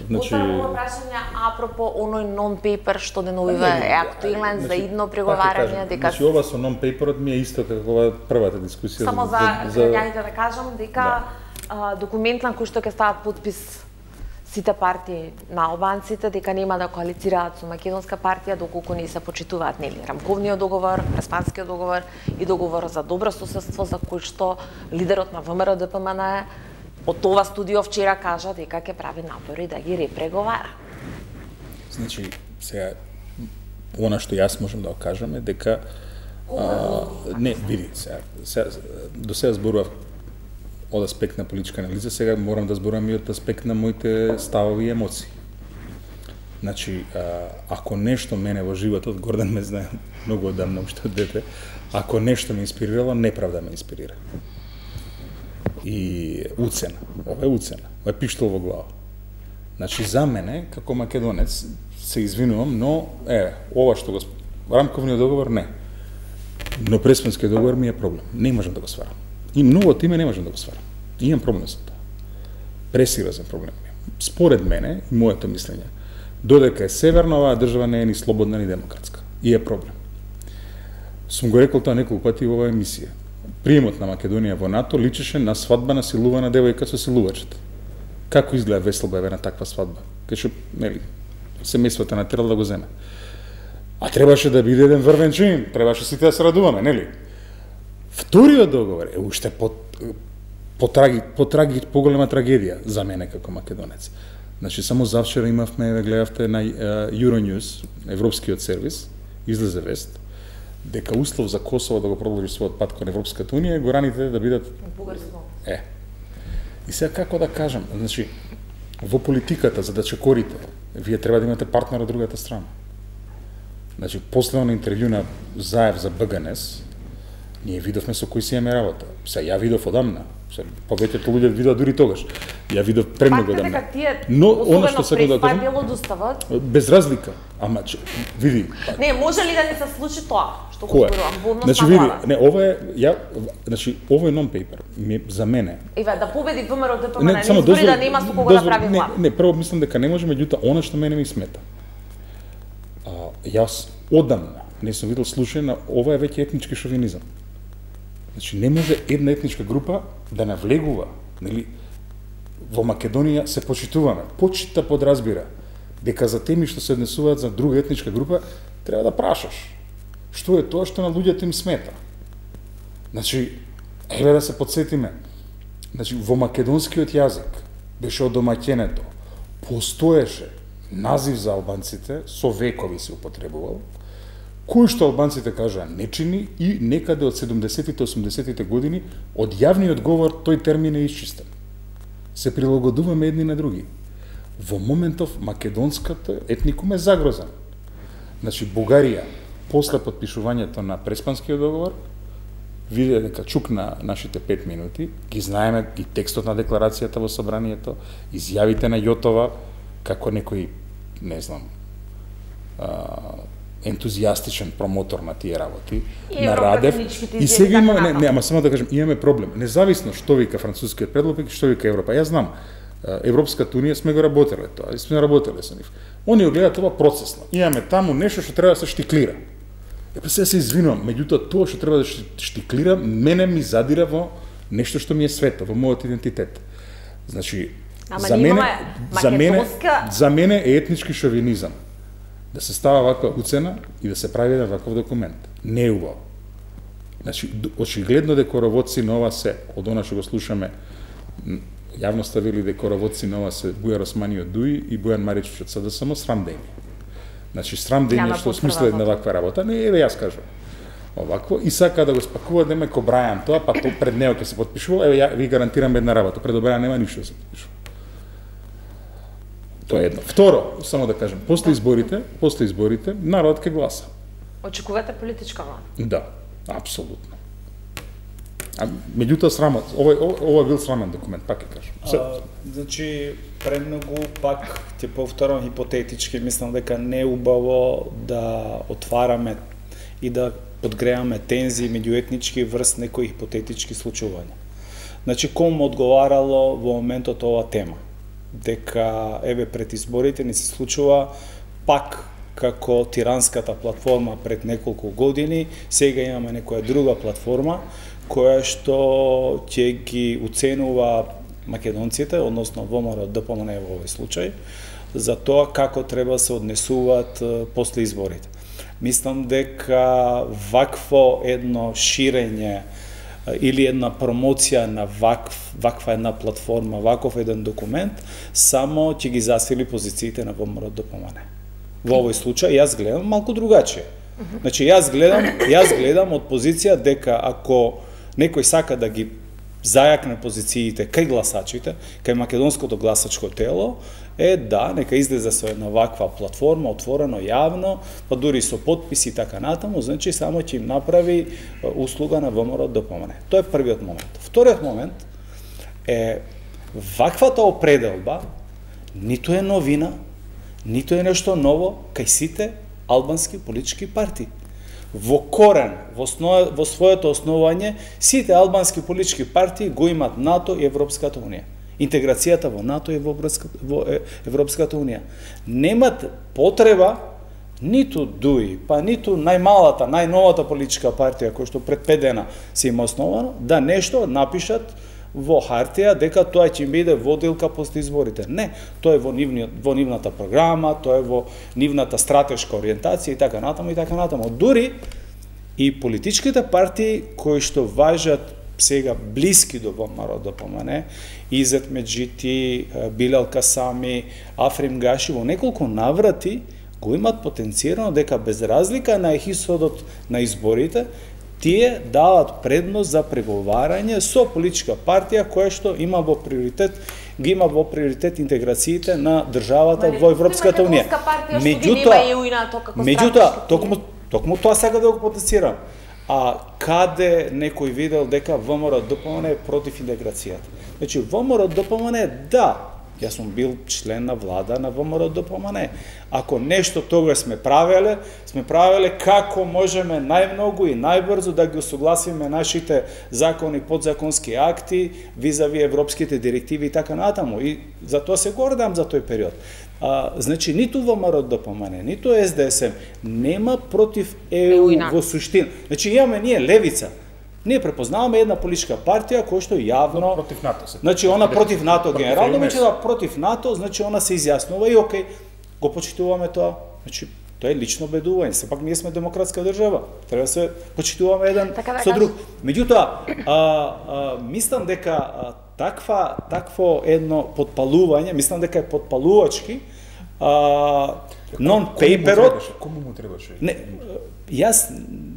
Значи... Утре прашање апропо оној нон-пейпер што деновиве е актуелен за идно преговарање, дека... Значи, ова со нон-пейперот ми е исто како ова првата дискусија. Само за граѓаните да кажам дека документ на кој што ќе стават подпис сите партии на албанците, дека нема да коалицираат со македонска партија доколку не се почитуваат нели рамковниот договор, Преспанскиот договор и договорот за добро соседство за кој што лидерот на ВМРО Д П М Н од ова студио вчера кажа дека ќе прави напори да ги репреговара. Значи, сега она што јас можам да кажам е дека а, не, види, сега, сега до сега зборував од аспект на политичка анализа, сега морам да зборувам и од аспект на моите ставови и емоции. Значи, а, ако нешто мене во животот, Гордан ме знае многу одамна, уште од дете, ако нешто ме инспирирало, неправда ме инспирира. И уцена, ова е уцена, ова е пиштол во глава. Значи, за мене, како македонец, се извинувам, но, е, ова што го рамковниот договор, не. Но Преспанскиот договор ми е проблем. Не можам да го сварам. И многу од име не можам да го сварам. Имам проблем со тоа. Пресериозен проблем. Според мене, и моето мислење, додека е северна, оваа држава не е ни слободна, ни демократска. И е проблем. Сум го рекол тоа неколку пати во оваа емисија. Приемот на Македонија во НАТО личеше на свадба на силувана девојка со силувачот. Како изгледа веселба на таква свадба? Кај што, нели, семејството натерало да го земе. А требаше да биде еден врвен чин, требаше сите да се радуваме, нели? Вториот договор е уште по по траги, по траги, поголема трагедија за мене како македонец. Значи само завчера имавме, ве гледавте на Euronews, европскиот сервис, излезе вест дека услов за Косово да го продолжи својот пат кон Европската унија е гораните да бидат Бугарско. Е. И сега како да кажам, значи во политиката за да чекорите, вие треба да имате партнер од другата страна. Значи после на интервју на Заев за Б Г Н С, ние видовме со кои си имаме работа. Се ја видов одамна. Се повеќето луѓе видоа дури тогаш. Ја видов премногу одамна. Но она што се да кажам, дело достават без разлика. Ама че, види. Не, може ли да не се случи тоа што го зборувам во однос значи, на види, влада? не, ова е ја, значи ова е нон-пейпер за мене. Еве да победи ВМРО Д П М Н, не избори да нема со кого да прави влада. Не, не, прво мислам дека не може, меѓутоа она што мене ми смета. А, јас одамна не сум видел случај на ова е веќе етнички шовинизам. Значи не може една етничка група да навлегува, нели? Во Македонија се почитуваме. Почита подразбира дека за теми што се однесуваат за друга етничка група треба да прашаш што е тоа што на луѓето им смета. Значи, еве да се подсетиме. Значи во македонскиот јазик беше одомаќенето. Постоеше назив за албанците, со векови се употребувал, кој што албанците кажаа не чини и некаде од седумдесетите осумдесетите години од јавниот говор тој термин е исчистен. Се прилагодуваме едни на други. Во моментов македонската етникум е загрозен. Значи Бугарија после подпишувањето на Преспанскиот договор виде дека чукна нашите пет минути, ги знаеме и текстот на декларацијата во собранието, изјавите на Јотова како некој, не знам, ентузијастичен промотор на тие работи, и на Радев. И сега има, не, не, ама само да кажем, имаме проблем. Независно што вика францускиот предлог и што вика Европа. Јас знам, Европската унија сме го работеле тоа, и сме работеле со нив. Они го гледаат ова процесно. Имаме таму нешто што треба да се штиклира. Е, па сега се извинувам, меѓутоа тоа што треба да штиклира, мене ми задира во нешто што ми е свето, во мојот идентитет. Значи, Ама за мене, за мене, македонска... за мене е етнички шовинизам да се става ваква уцена и да се прави еден ваков документ. Не е убаво. Значи, очигледно дека роводци на ова се, од она што го слушаме, јавно ставили дека роводци на ова се Бујар Османи од Дуи и Бојан Маричич од С Д С М, срам да им. Значи, срам да им што смислат на ваква работа. Не, еве јас кажам. овакво и сака да го спакува да ме ко Брајан тоа, па то пред него ќе се потпишува, еве ја ви гарантирам една работа, пред Брајан нема ништо да се потпишува. Тоа е едно. Второ, само да кажем, после изборите, после изборите народот ќе гласа. Очекувате политичка влада? Да, апсолутно. А меѓутоа срамот, овој ова бил срамен документ, пак ќе кажам. А, значи премногу пак ќе повторам хипотетички, мислам дека не е убаво да отвараме и да подгреаме тензии меѓуетнички врз некои хипотетички случувања. Значи кому одговарало во моментот ова тема? Дека еве пред изборите ни се случува пак како тиранската платформа пред неколку години, сега имаме некоја друга платформа која што ќе ги уценува македонците, односно ВМРО-ДПМН во овој случај, за тоа како треба се однесуваат после изборите. Мислам дека вакво едно ширење или една промоција на вакв, ваква една платформа, ваков еден документ, само ќе ги засили позициите на ВМРО-ДПМН. Во овој случај јас гледам малку другачие. Значи јас гледам, јас гледам од позиција дека ако некој сака да ги зајакне позициите кај гласачите, кај македонското гласачко тело, е да, нека излезе со една ваква платформа, отворено, јавно, па дури со подписи и така натаму, значи само ќе им направи услуга на ВМРО-ДПМН. Тоа е првиот момент. Вториот момент е ваквата определба ниту е новина, ниту е нешто ново кај сите албански политички партии. Во корен, во, основ... во своето основање, сите албански политички партии го имат НАТО и Европската унија. Интеграцијата во НАТО и во Европската унија. Немат потреба ниту ДУИ, па ниту најмалата, најновата политичка партија која што пред пет дена се има основано, да нешто напишат во хартија дека тоа ќе биде водилка после изборите. Не, тоа е во, нивни, во нивната програма, тоа е во нивната стратешка ориентација и така натаму и така натаму. Дури и политичките партии кои што важат сега блиски до ВМРО-ДПМН, Изет Меджити, Билал Касами, Африм Гаши, во неколку наврати го имат потенцирано дека без разлика на исходот на изборите, тие дават предност за преговарање со политичка партија која што има во приоритет, ги има во приоритет интеграциите на државата во Европската унија. Меѓутоа, меѓутоа, токму токму тоа сака да го потенцирам. А каде некој видел дека ВМРО-ДПМН е против интеграцијата? Значи ВМРО-ДПМН да, јас сум бил член на влада на ВМРО-ДПМН. Ако нешто тогаш сме правеле, сме правеле како можеме најмногу и најбрзо да ги усогласиме нашите закони, подзаконски акти, визави европските директиви и така натаму. И за тоа се гордам за тој период. А, значи, ниту ВМРО-ДПМН, ниту Ес Де Ес Ем нема против Е У во суштина. Значи, имаме ние левица. Ние препознаваме една политичка партија која што јавно против НАТО се. Значи она против НАТО генерално, значи да против НАТО, значи она се изјаснува и окей, го почитуваме тоа. Значи тоа е лично бедување. Сепак ние сме демократска држава. Треба да се почитуваме еден така, со друг. Меѓутоа, а, а, мислам дека а, таква такво едно подпалување, мислам дека е подпалувачки, а, нон-пейперот. Кому му требаше? Не, јас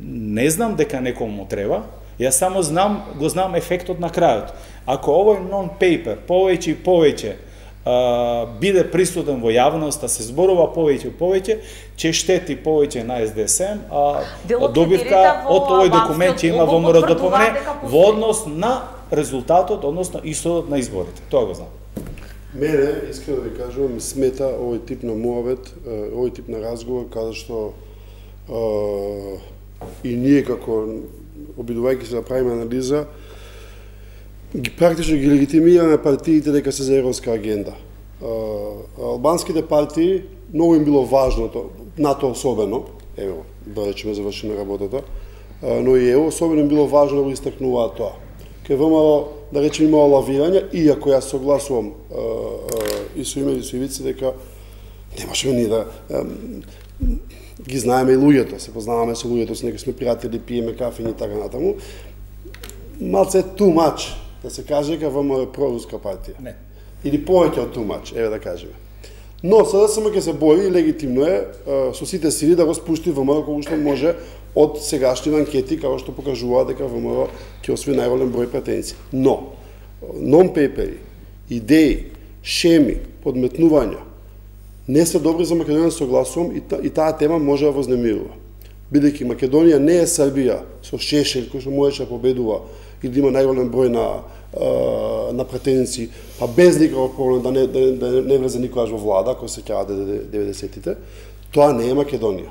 не знам дека некому му треба. Јас само знам, го знам ефектот на крајот. Ако овој нон-пейпер повеќе и повеќе а, биде присутен во јавноста, се зборува повеќе и повеќе, ќе штети повеќе на Ес Де Ес Ем, а добивка од овој документ ќе има во МРДПМН во однос на резултатот, односно исходот на изборите. Тоа го знам. Мене, искрено да ви кажувам, смета овој тип на муавет, овој тип на разговор, каде што а, и ние како обидувајќи се да правиме анализа, ги практично ги легитимираме партиите дека се за европска агенда. Албанските партии, многу им било важно, НАТО особено, ево, да речеме завршиме работата, но и ево, особено им било важно да го истакнуваат тоа. Кај ВМРО, да речеме, имало лавирање, иако јас согласувам и со име и со Ивица дека немашеме ни да ги знаеме и луѓето, се познаваме со луѓето, со некои сме пријатели, пиеме кафе и така натаму. Малце too much, да се каже дека ВМРО е проруска партија. Не. Или повеќе од too much, еве да кажеме. Но СДСМ ќе се бори и легитимно е со сите сили да го спушти ВМРО колку што може од сегашни анкети како што покажуваат дека ВМРО ќе освои најголем број пратеници. Но нон-пейпери, идеи, шеми, подметнувања не се добри за Македонија, согласувам, и, та, и таа тема може да вознемирува. Бидејќи Македонија не е Србија со Шешел кој што можеше да победува и да има најголем број на на пратеници, па без никаков проблем да не да, да не влезе никогаш во влада, кој се сеќава деветдесетите, тоа не е Македонија.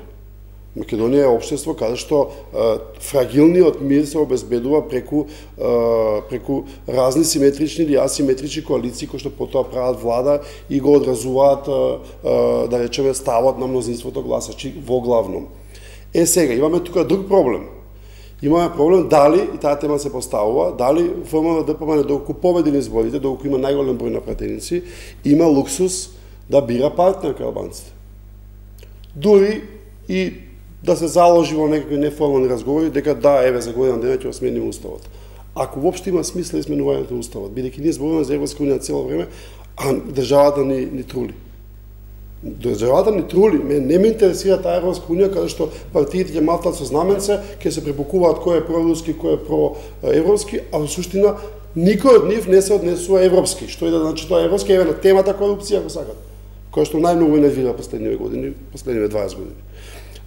Македонија е општество каде што е, фрагилниот мир се обезбедува преку е, преку разни симетрични или асиметрични коалиции кои што потоа прават влада и го одразуваат е, е, да речеме ставот на мнозинството гласачи во главном. Е сега имаме тука друг проблем. Имаме проблем дали, и таа тема се поставува, дали ВМРО-ДПМН доколку победи на изборите, доколку има најголем број на пратеници, има луксус да бира партнер кај албанците. Дури и да се заложи во некакви неформални разговори дека да, еве за година дена ќе го смениме уставот. Ако воопшто има смисла изменувањето на уставот, бидејќи ние зборуваме за Европска унија цело време, а државата ни ни трули. Државата ни трули, ме не ме интересира таа Европска унија каде што партиите ќе мафтат со знаменце, ќе се препукуваат кој е проруски, кој е проевропски, а во суштина никој од нив не се однесува европски. Што и да значи тоа европски, еве на темата корупција ако сакат, која што најмногу нервира последниве години, последниве дваесет години.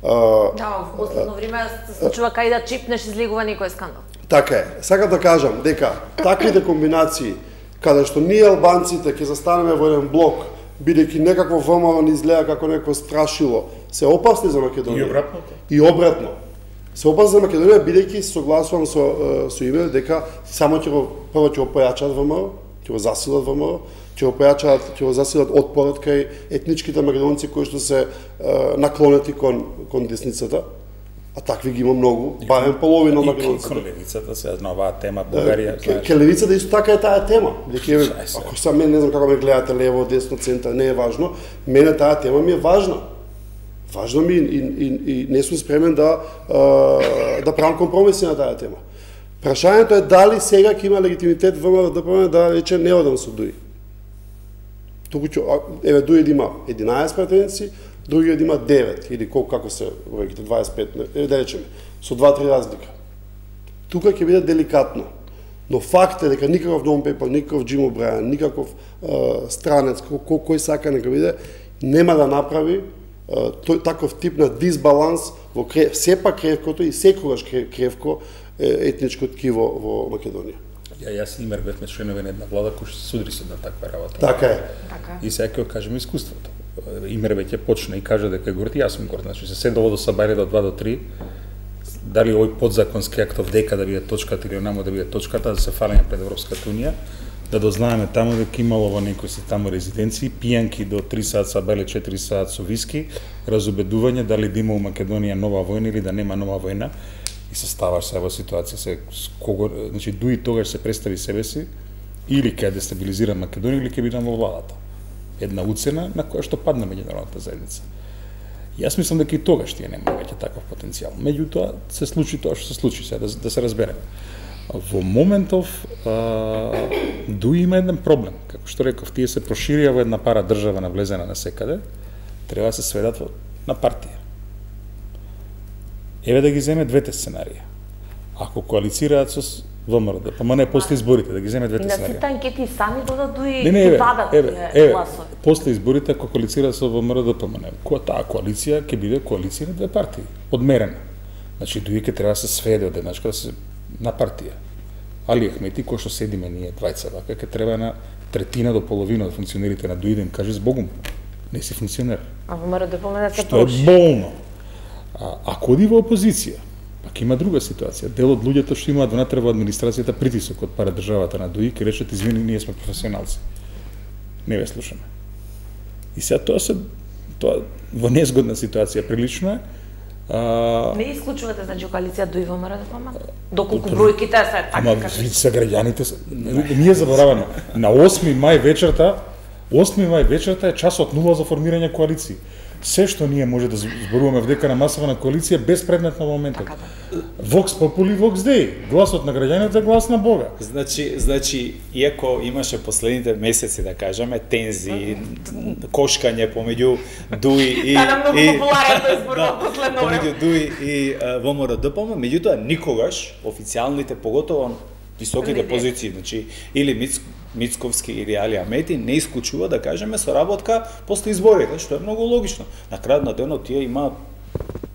Uh, да, во последно време се случува кај да чипнеш излегува некој скандал. Така е. Сакам да кажам дека таквите комбинации каде што ние албанците ќе застанеме во еден блок, бидејќи некакво ВМРО ни изгледа како некој страшило, се опасни за Македонија. И обратно. И обратно. Се опасни за Македонија бидејќи согласувам со со име дека само ќе го прво ќе го појачаат ВМРО, ќе го засилат ВМРО, ќе го појачаат, ќе го засилат отпорот кај етничките македонци кои што се е, наклонети кон кон десницата, а такви ги има многу, барем половина од македонците. И кон левицата се на оваа тема Бугарија, знаеш. Ке левицата исто така е таа тема. Дека ако сам мен не знам како ме гледате лево, десно, центар, не е важно, мене таа тема ми е важна. Важно ми и, и, и не сум спремен да да правам компромиси на таа тема. Прашањето е дали сега ќе има легитимитет ВМРО-ДПМН да рече не одам со ДУИ. Туку ќе, еве ДУИ да има единаесет пратеници, други да има девет или колку како се бројките дваесет и пет, еве да речеме, со два-три разлика. Тука ќе биде деликатно. Но факт е дека никаков нон-пейпер, никаков Джим О'Брајан, никаков е, странец, кој, кој сака нека биде, нема да направи е, тој таков тип на дисбаланс во крев, сепак кревкото и секогаш кревко етничко ткиво во Македонија. Ја јас и Имер бевме членови на една влада кој се судри се на таква работа. Така е. Така. И сега ќе кажеме искуството. Имер веќе почна и кажа дека е горд, јас сум горд. Значи се седело до сабајле до два до три. Дали овој подзаконски актов дека да биде точката или онамо да биде точката, да се фалиме пред Европската унија, да дознаеме таму дека имало во некои си таму резиденции пијанки до три саат сабајле, четири саат со виски, разубедување дали да има у Македонија нова војна или да нема нова војна. И се ставаш се во ситуација се кого, значи ДУИ тогаш се представи себе си или ќе дестабилизира Македонија или ќе биде во владата. Една уцена на која што падна меѓународната заедница. Јас мислам дека и тогаш тие нема веќе таков потенцијал. Меѓутоа се случи тоа што се случи, сега да, да се разбереме. Во моментов а, ДУИ има еден проблем. Како што реков, тие се проширија во една пара држава навлезена на секаде, треба да се сведат во, на партија. Еве да ги земе двете сценарии. Ако коалицираат со ВМРО-ДПМН после изборите, да ги земе двете сценарии. И на сите анкети сами додат ДУИ и падат еве, гласови. После изборите ако коалицираат со ВМРО-ДПМН, која таа коалиција ќе биде коалиција на две партии, одмерена. Значи ДУИ ќе треба да се сведе од еднашка да се на партија. Али Ахмети, кој што седиме ние двајца вака, ќе треба на третина до половина од функционерите на ДУИ да им каже збогум. Не си функционер. А ВМРО-ДПМН се што е болно. А, ако оди во опозиција, пак има друга ситуација. Дел од луѓето што имаат внатре во администрацијата притисок од пара државата на ДУИ, ќе речат извини, ние сме професионалци. Не ве слушаме. И сега тоа се тоа во незгодна ситуација прилично е. А... Не исклучувате значи коалиција ДУИ во ВМРО-ДПМН? Доколку бројките се така. Ама видите се граѓаните се... ние забораваме на осми мај вечерта, осми мај вечерта е часот нула за формирање коалиции. се што ние може да зборуваме вдека на масова коалиција безпредметно во моментот. Vox Populi, Vox Dei, гласот на граѓаните е глас на Бога. Значи, значи, иако имаше последните месеци, да кажеме, тензии, кошкање помеѓу Дуи и Тада многу популарен тој збор во последно време. Помеѓу Дуи и ВМРО-ДПМ, меѓутоа никогаш официјалните, поготово високите позиции, значи или Миц, Мицковски или Али Амети не исклучува, да кажеме, соработка после изборите, што е многу логично. На крајот на денот тие имаат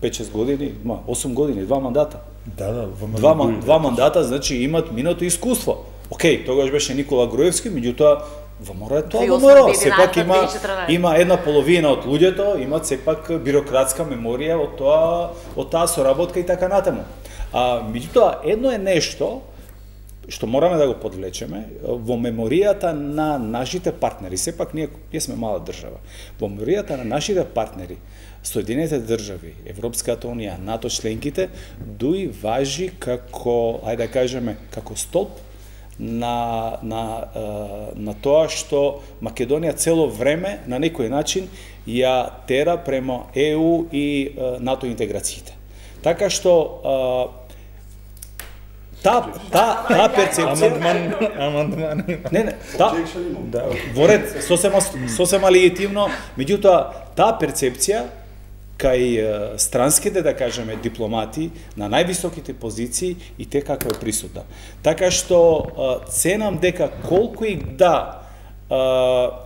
пет-шест години, има осум години, два мандата. Да, да, два, ман, два мандата, значи имат минато искуство. Океј, тогаш беше Никола Груевски, меѓутоа ВМРО е тоа ВМРО. Сепак има има една половина од луѓето имаат сепак бирократска меморија од тоа од таа соработка и така натаму. А меѓутоа едно е нешто што мораме да го подвлечеме во меморијата на нашите партнери. Сепак ние, ние сме мала држава. Во меморијата на нашите партнери, Соединените држави, Европската унија, НАТО членките, Дуи важи како, ајде да кажеме, како столб на, на, на тоа што Македонија цело време на некој начин ја тера према Е У и НАТО интеграциите. Така што Та, та, та перцепција... Амандман, амандман. Не, не, та, да, во ред, сосема, сосема легитимно, меѓутоа, таа перцепција кај странските, да кажеме, дипломати на највисоките позиции и те каква е присутна. Така што ценам дека колку и да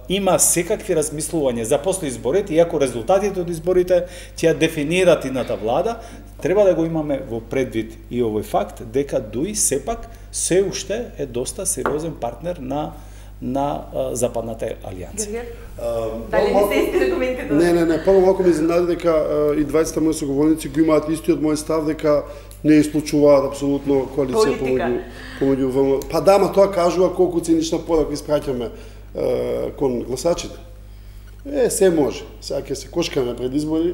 има секакви размислувања за после изборите, иако резултатите од изборите ќе дефинираат идната влада, треба да го имаме во предвид и овој факт дека Дуи сепак се уште е доста сериозен партнер на на а, Западната алијанса. Дали не се исти аргументите? Не, не, не, прво малку ме изненади дека а, и дваесетта мои соговорници го имаат истиот мој став дека не исклучуваат апсолутно коалиција помеѓу помеѓу ВМ. Па да, ма тоа кажува колку цинична порака испраќаме кон гласачите. Е, се може. Сега ќе се кошкаме пред избори,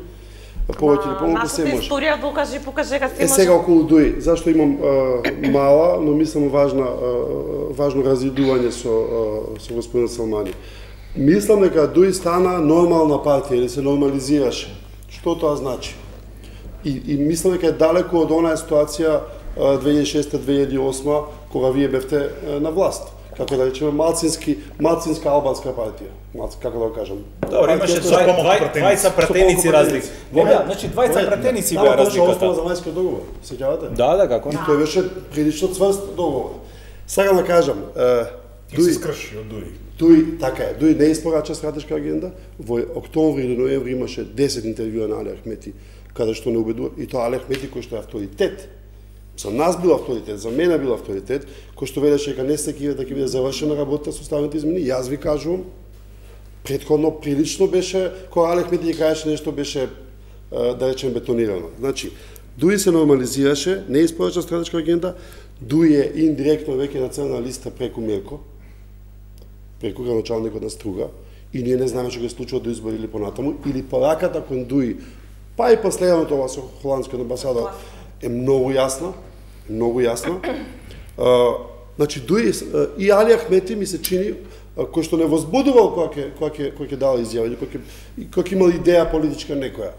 повеќе или помалку се може. Нашата историја докажи, покаже дека се е, може. Сега околу Дуи, зашто имам е, мала, но мислам важна, е, важно разидување со, е, со господин Салмани. Мислам дека Дуи стана нормална партија или се нормализираше. Што тоа значи? И, и мислам дека е далеко од онаа ситуација две илјади и шеста - две илјади и осма кога вие бевте е, на власт. Како да речеме, малцински, малцинска албанска партија. Малци, како да го кажам. Добро, имаше двајца пратеници разлики. Да, значи двајца пратеници беа разликата. Тоа за мајскиот договор, сеќавате? Да, да, како? И тој беше прилично цврст договор. Сега да кажам, Дуи се скрши од Дуи. Дуи, така е, Дуи не испорача стратешка агенда. Во октомври до ноември имаше десет интервјуа на Али Ахмети, каде што не убедува, и тоа Али Ахмети кој што е авторитет. За нас бил авторитет, за мене бил авторитет, кој што велеше дека не се киве да ќе биде завршена работа со уставните измени. Јас ви кажувам, претходно прилично беше, кога Али Ахмети ќе кажеше нешто беше, да речем, бетонирано. Значи, Дуи се нормализираше, не испорача стратешка агенда, Дуи е индиректно веќе на црна листа преку Мирко, преку градоначалникот на Струга, и ние не знаеме што ќе случува до избори или понатаму, или пораката кон Дуи, па и последното ова со холандскиот амбасадор е многу јасна, многу јасна. Uh, значи, Дуи и Али Ахмети ми се чини, кој што не возбудувал кога ќе кога ќе кога ќе дава изјава или кога ќе кога ќе имал идеја политичка некоја.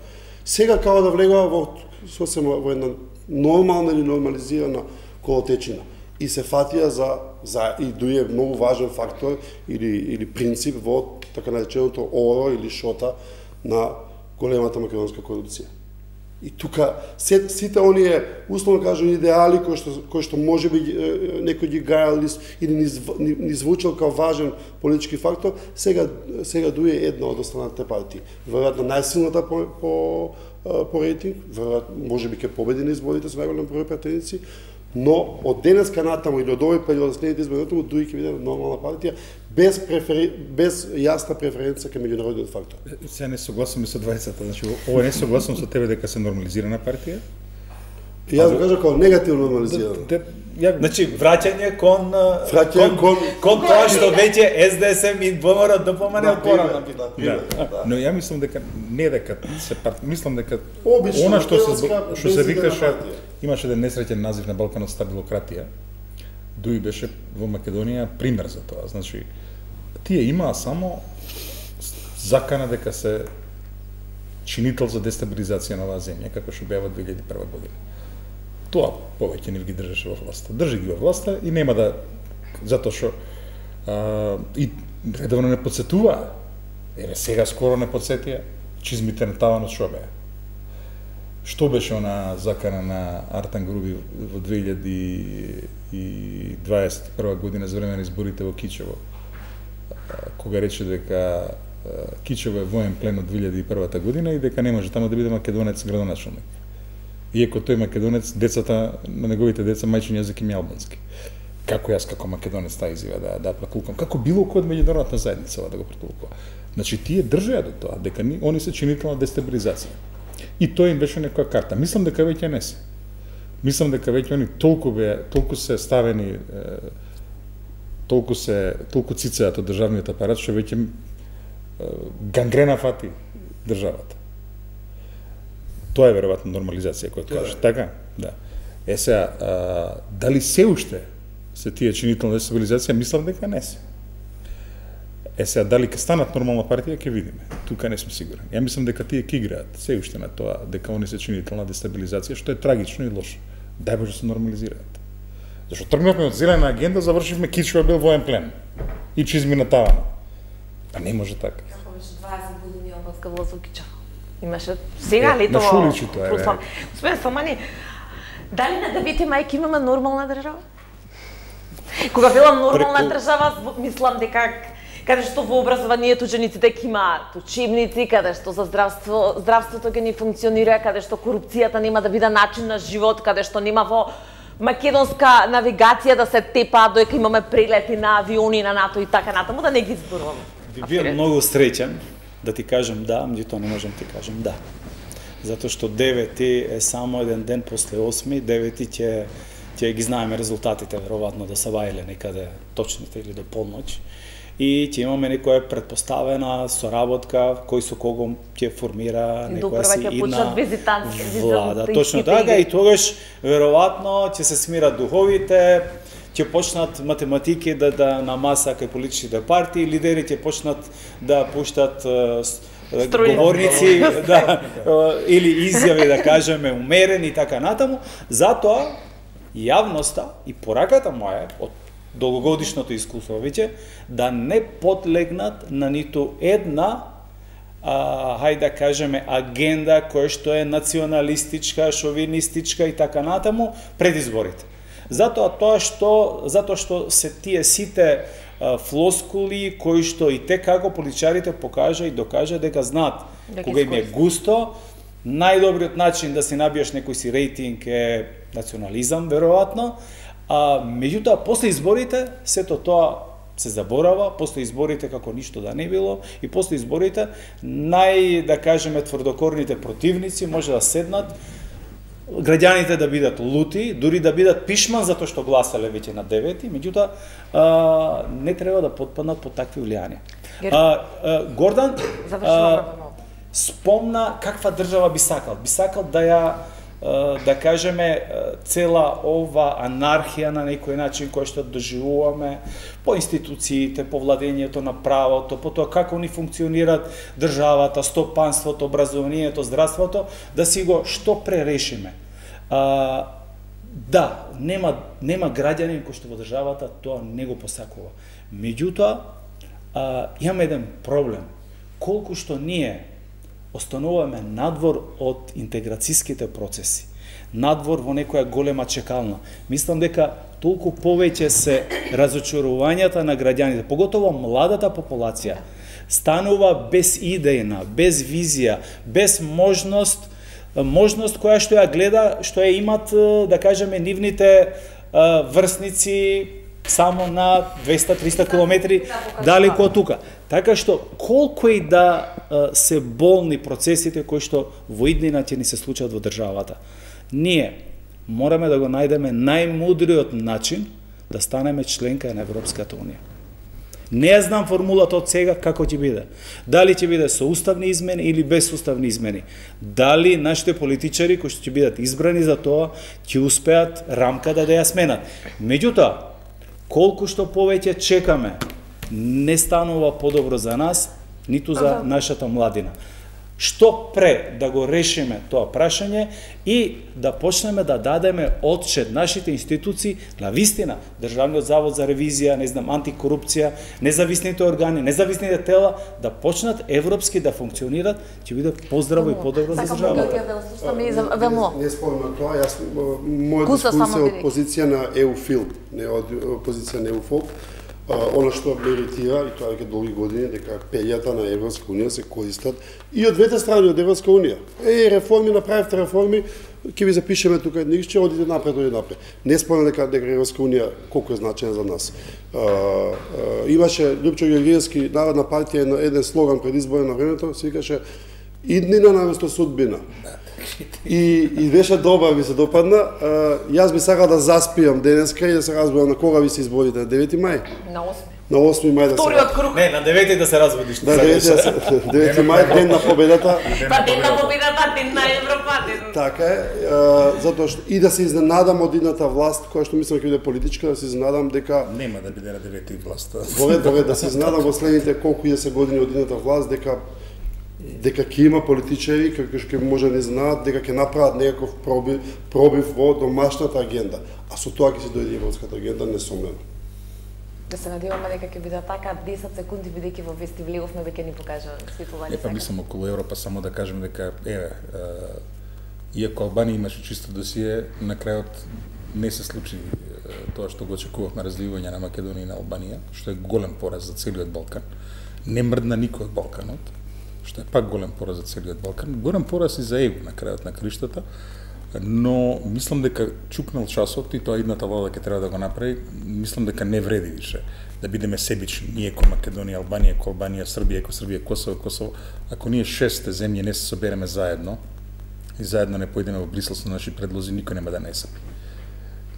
Сега као да влегува во сосема во една нормална или нормализирана колотечина и се фатија за за и Дуи е многу важен фактор или или принцип во така нареченото оро или шота на големата македонска корупција. И тука се, сите оние, условно кажам, идеали кои што, кои што може би некој ги гајал или ни, ни, ни звучал као важен политички фактор, сега, сега Дуи е една од останатите партии. Веројатно најсилната по, по, по рейтинг, веројатно може би ќе победи на изборите со најголем број пратеници, но од денеска натаму или од овој период следните избори натаму Дуи ќе биде нормална партија без префери... без јасна преференција кај меѓународниот фактор. Се не согласувам со двајцата, значи ова не согласувам со тебе дека се нормализирана партија. И јас го кажам како негативно нормализирано. Ја... Значи враќање кон враќање кон кон тоа што веќе С Д С М и ВМРО да помане од порано. Да. Но ја мислам дека не дека се парт... мислам дека обично она што се што се викаше имаше еден несреќен назив на Балканот стабилократија. Дуи беше во Македонија пример за тоа. Значи, тие имаа само закана дека се чинител за дестабилизација на оваа земја, како што беа во две илјади и прва година. Тоа повеќе не ги држеше во власта. Држи ги во власта и нема да, затоа што и редовно не подсетуваа. Еве сега скоро не подсетија чизмите на таванот што беа. Што беше она закана на Артан Груби во две илјади и дваесет и прва година за време на изборите во Кичево, кога рече дека Кичево е воен плен од две илјади и прва година и дека не може таму да биде македонец градоначелник. Иако тој македонец, децата на неговите деца мајчин јазик им е албански. Како јас како македонец таа изјава да да протулкам, како било кој од меѓународната заедница да го протулкува. Значи тие држеа до тоа дека ни, они се чинител на дестабилизација. И тоа им беше некоја карта. Мислам дека веќе не се. Мислам дека веќе они толку бе, толку се ставени, е, толку се, толку цицеат од државниот апарат што веќе гангрена фати државата. Тоа е веројатно нормализација која кажеш, така? Да. Е сега, дали се уште се тие чинителна дестабилизација, мислам дека не се. Е сега, дали ќе станат нормална партија, ќе видиме. Тука не сум сигурен. Ја мислам дека тие ќе играат се уште на тоа, дека они се чинителна дестабилизација, што е трагично и лошо. Дај Боже се нормализираат. Зашто тргнавме од зелена агенда, завршивме Кичево бил воен плен. И чизми на тавана. Па не може така. Како беше дваесет години албанска власт во Кичево. Имаше сега ли тоа? На Шуличи тоа е. Господин Салмани, дали на девети мајки имаме нормална држава? Кога велам нормална Преку... држава, мислам дека каде што во образованието жениците ќе имаат учебници, каде што за здравство, здравството ќе ни функционира, каде што корупцијата нема да биде начин на живот, каде што нема во македонска навигација да се тепа додека имаме прелети на авиони на НАТО и така натаму, да не ги зборувам. Би бил многу среќен да ти кажам да, меѓутоа не можам ти кажам да. Затоа што девети е само еден ден после осми, девети ќе ќе ги знаеме резултатите веројатно да се вајле некаде точните или до полноќ. И ќе имаме некоја предпоставена соработка кој со кого ќе формира некоја си идна влада. Точно така и тогаш веројатно ќе се смират духовите, ќе почнат математики да, да на маса кај политичките партии, лидери ќе почнат да пуштат Струјно. Говорници да, или изјави да кажеме умерени и така натаму. Затоа јавноста и пораката моја од долгогодишното искуство веќе да не подлегнат на ниту една а, хајде да кажеме агенда која што е националистичка, шовинистичка и така натаму пред изборите. Затоа тоа што затоа што се тие сите а, флоскули кои што и те како политичарите покажа и докажа дека знаат кога им е густо, најдобриот начин да си набиеш некој си рейтинг е национализам веројатно. А меѓутоа после изборите сето тоа се заборава, после изборите како ништо да не било и после изборите нај да кажеме тврдокорните противници може да седнат, граѓаните да бидат лути, дури да бидат пишман затоа што гласале веќе на девети, меѓутоа а, не треба да потпаднат под такви влијанија. А, а, Гордан а, спомна каква држава би сакал. Би сакал да ја да кажеме цела ова анархија на некој начин кој што доживуваме по институциите, по владењето на правото, по тоа како ни функционираат државата, стопанството, образованието, здравството, да си го што пререшиме. А, да, нема нема граѓанин кој што во државата тоа не го посакува. Меѓутоа, а, имаме еден проблем. Колку што ние остануваме надвор од интеграцијските процеси, надвор во некоја голема чекална. Мислам дека толку повеќе се разочарувањата на граѓаните, поготово младата популација, станува без идејна, без визија, без можност, можност која што ја гледа, што ја имат, да кажеме, нивните врсници само на двеста-триста километри далеко од тука. Така што, колку и да се болни процесите кои што во иднина ќе ни се случат во државата, ние мораме да го најдеме најмудриот начин да станеме членка на Европската Унија. Не ја знам формулата од сега како ќе биде. Дали ќе биде со уставни измени или без уставни измени. Дали нашите политичари кои што ќе бидат избрани за тоа ќе успеат рамката да ја сменат. Меѓутоа, колку што повеќе чекаме, не станува подобро за нас, ниту за нашата младина. што пре да го решиме тоа прашање и да почнеме да дадеме отчет нашите институции на вистина, Државниот завод за ревизија, не знам, антикорупција, независните органи, независните тела да почнат европски да функционират, ќе биде поздраво и подобро за државата. Не, не спомнам тоа, јас моја дискусија од позиција на еуфил, не од позиција на еуфол. Она што ме иритира, и тоа веќе долги години, дека пењата на Европска унија се користат и од двете страни од Европска унија. Е, реформи, направивте реформи, ќе ви запишеме тука едничче, одите напред, одите напред. Не спомнам дека дека Европска унија колку е значена за нас. А, а, имаше Лјупчо Георгиевски, Народна партија, еден, еден слоган пред избори на времето, се викаше иднина наместо судбина. И, и беше добра, ми се допадна. А, јас би сакал да заспиам денеска и да се разберам на кога ви се изборите, на девети мај? На осми. На осми мај да се... Вториот круг. Не, на девети да се разбудиш. Да, девети мај, ден на победата. Па ден на победата, ден на Европа, ден... Така е, а, затоа што и да се изненадам од идната власт, која што мислам ќе биде политичка, да се изненадам дека... Нема да биде на девети власт. Довед, довед, да се изненадам во следните колку и се години од идната власт, дека дека ќе има политичари кои ќе може да не знаат дека ќе направат некаков пробив, пробив во домашната агенда. А со тоа ќе се дојде европската агенда несомнено. Да се надеваме дека ќе биде така, десет секунди бидејќи во вести влеговме веќе ни покажа светување. Епа мислам околу Европа само да кажем дека еве иако Албанија имаше чисто досие, на крајот не се случи тоа што го очекувавме, развивање на Македонија и на Албанија, што е голем пораз за целиот Балкан. Не мрдна никој од Балканот, што е пак голем пораз за целиот Балкан. Голем пораз и за ЕУ на крајот на криштата, но мислам дека чукнал часот и тоа идната влада ќе треба да го направи. Мислам дека не вреди више да бидеме себични, ние ко Македонија, Албанија, ко Албанија, Србија, ко Србија, Косово, Косово. Ако ние шесте земји не се собереме заедно и заедно не поидеме во Брисел со наши предлози, никој нема да не сапи.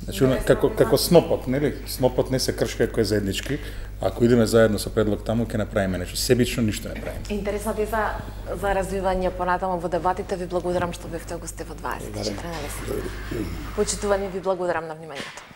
Значи, како, како снопот, нели? Снопот не се кршка ако е заеднички. Ако идеме заедно со предлог таму, ќе направиме нешто. Себично ништо не правиме. Интересно ти за, за развивање понатаму во дебатите. Ви благодарам што бевте гости во дваесет и четири. Почитувани, ви благодарам на вниманието.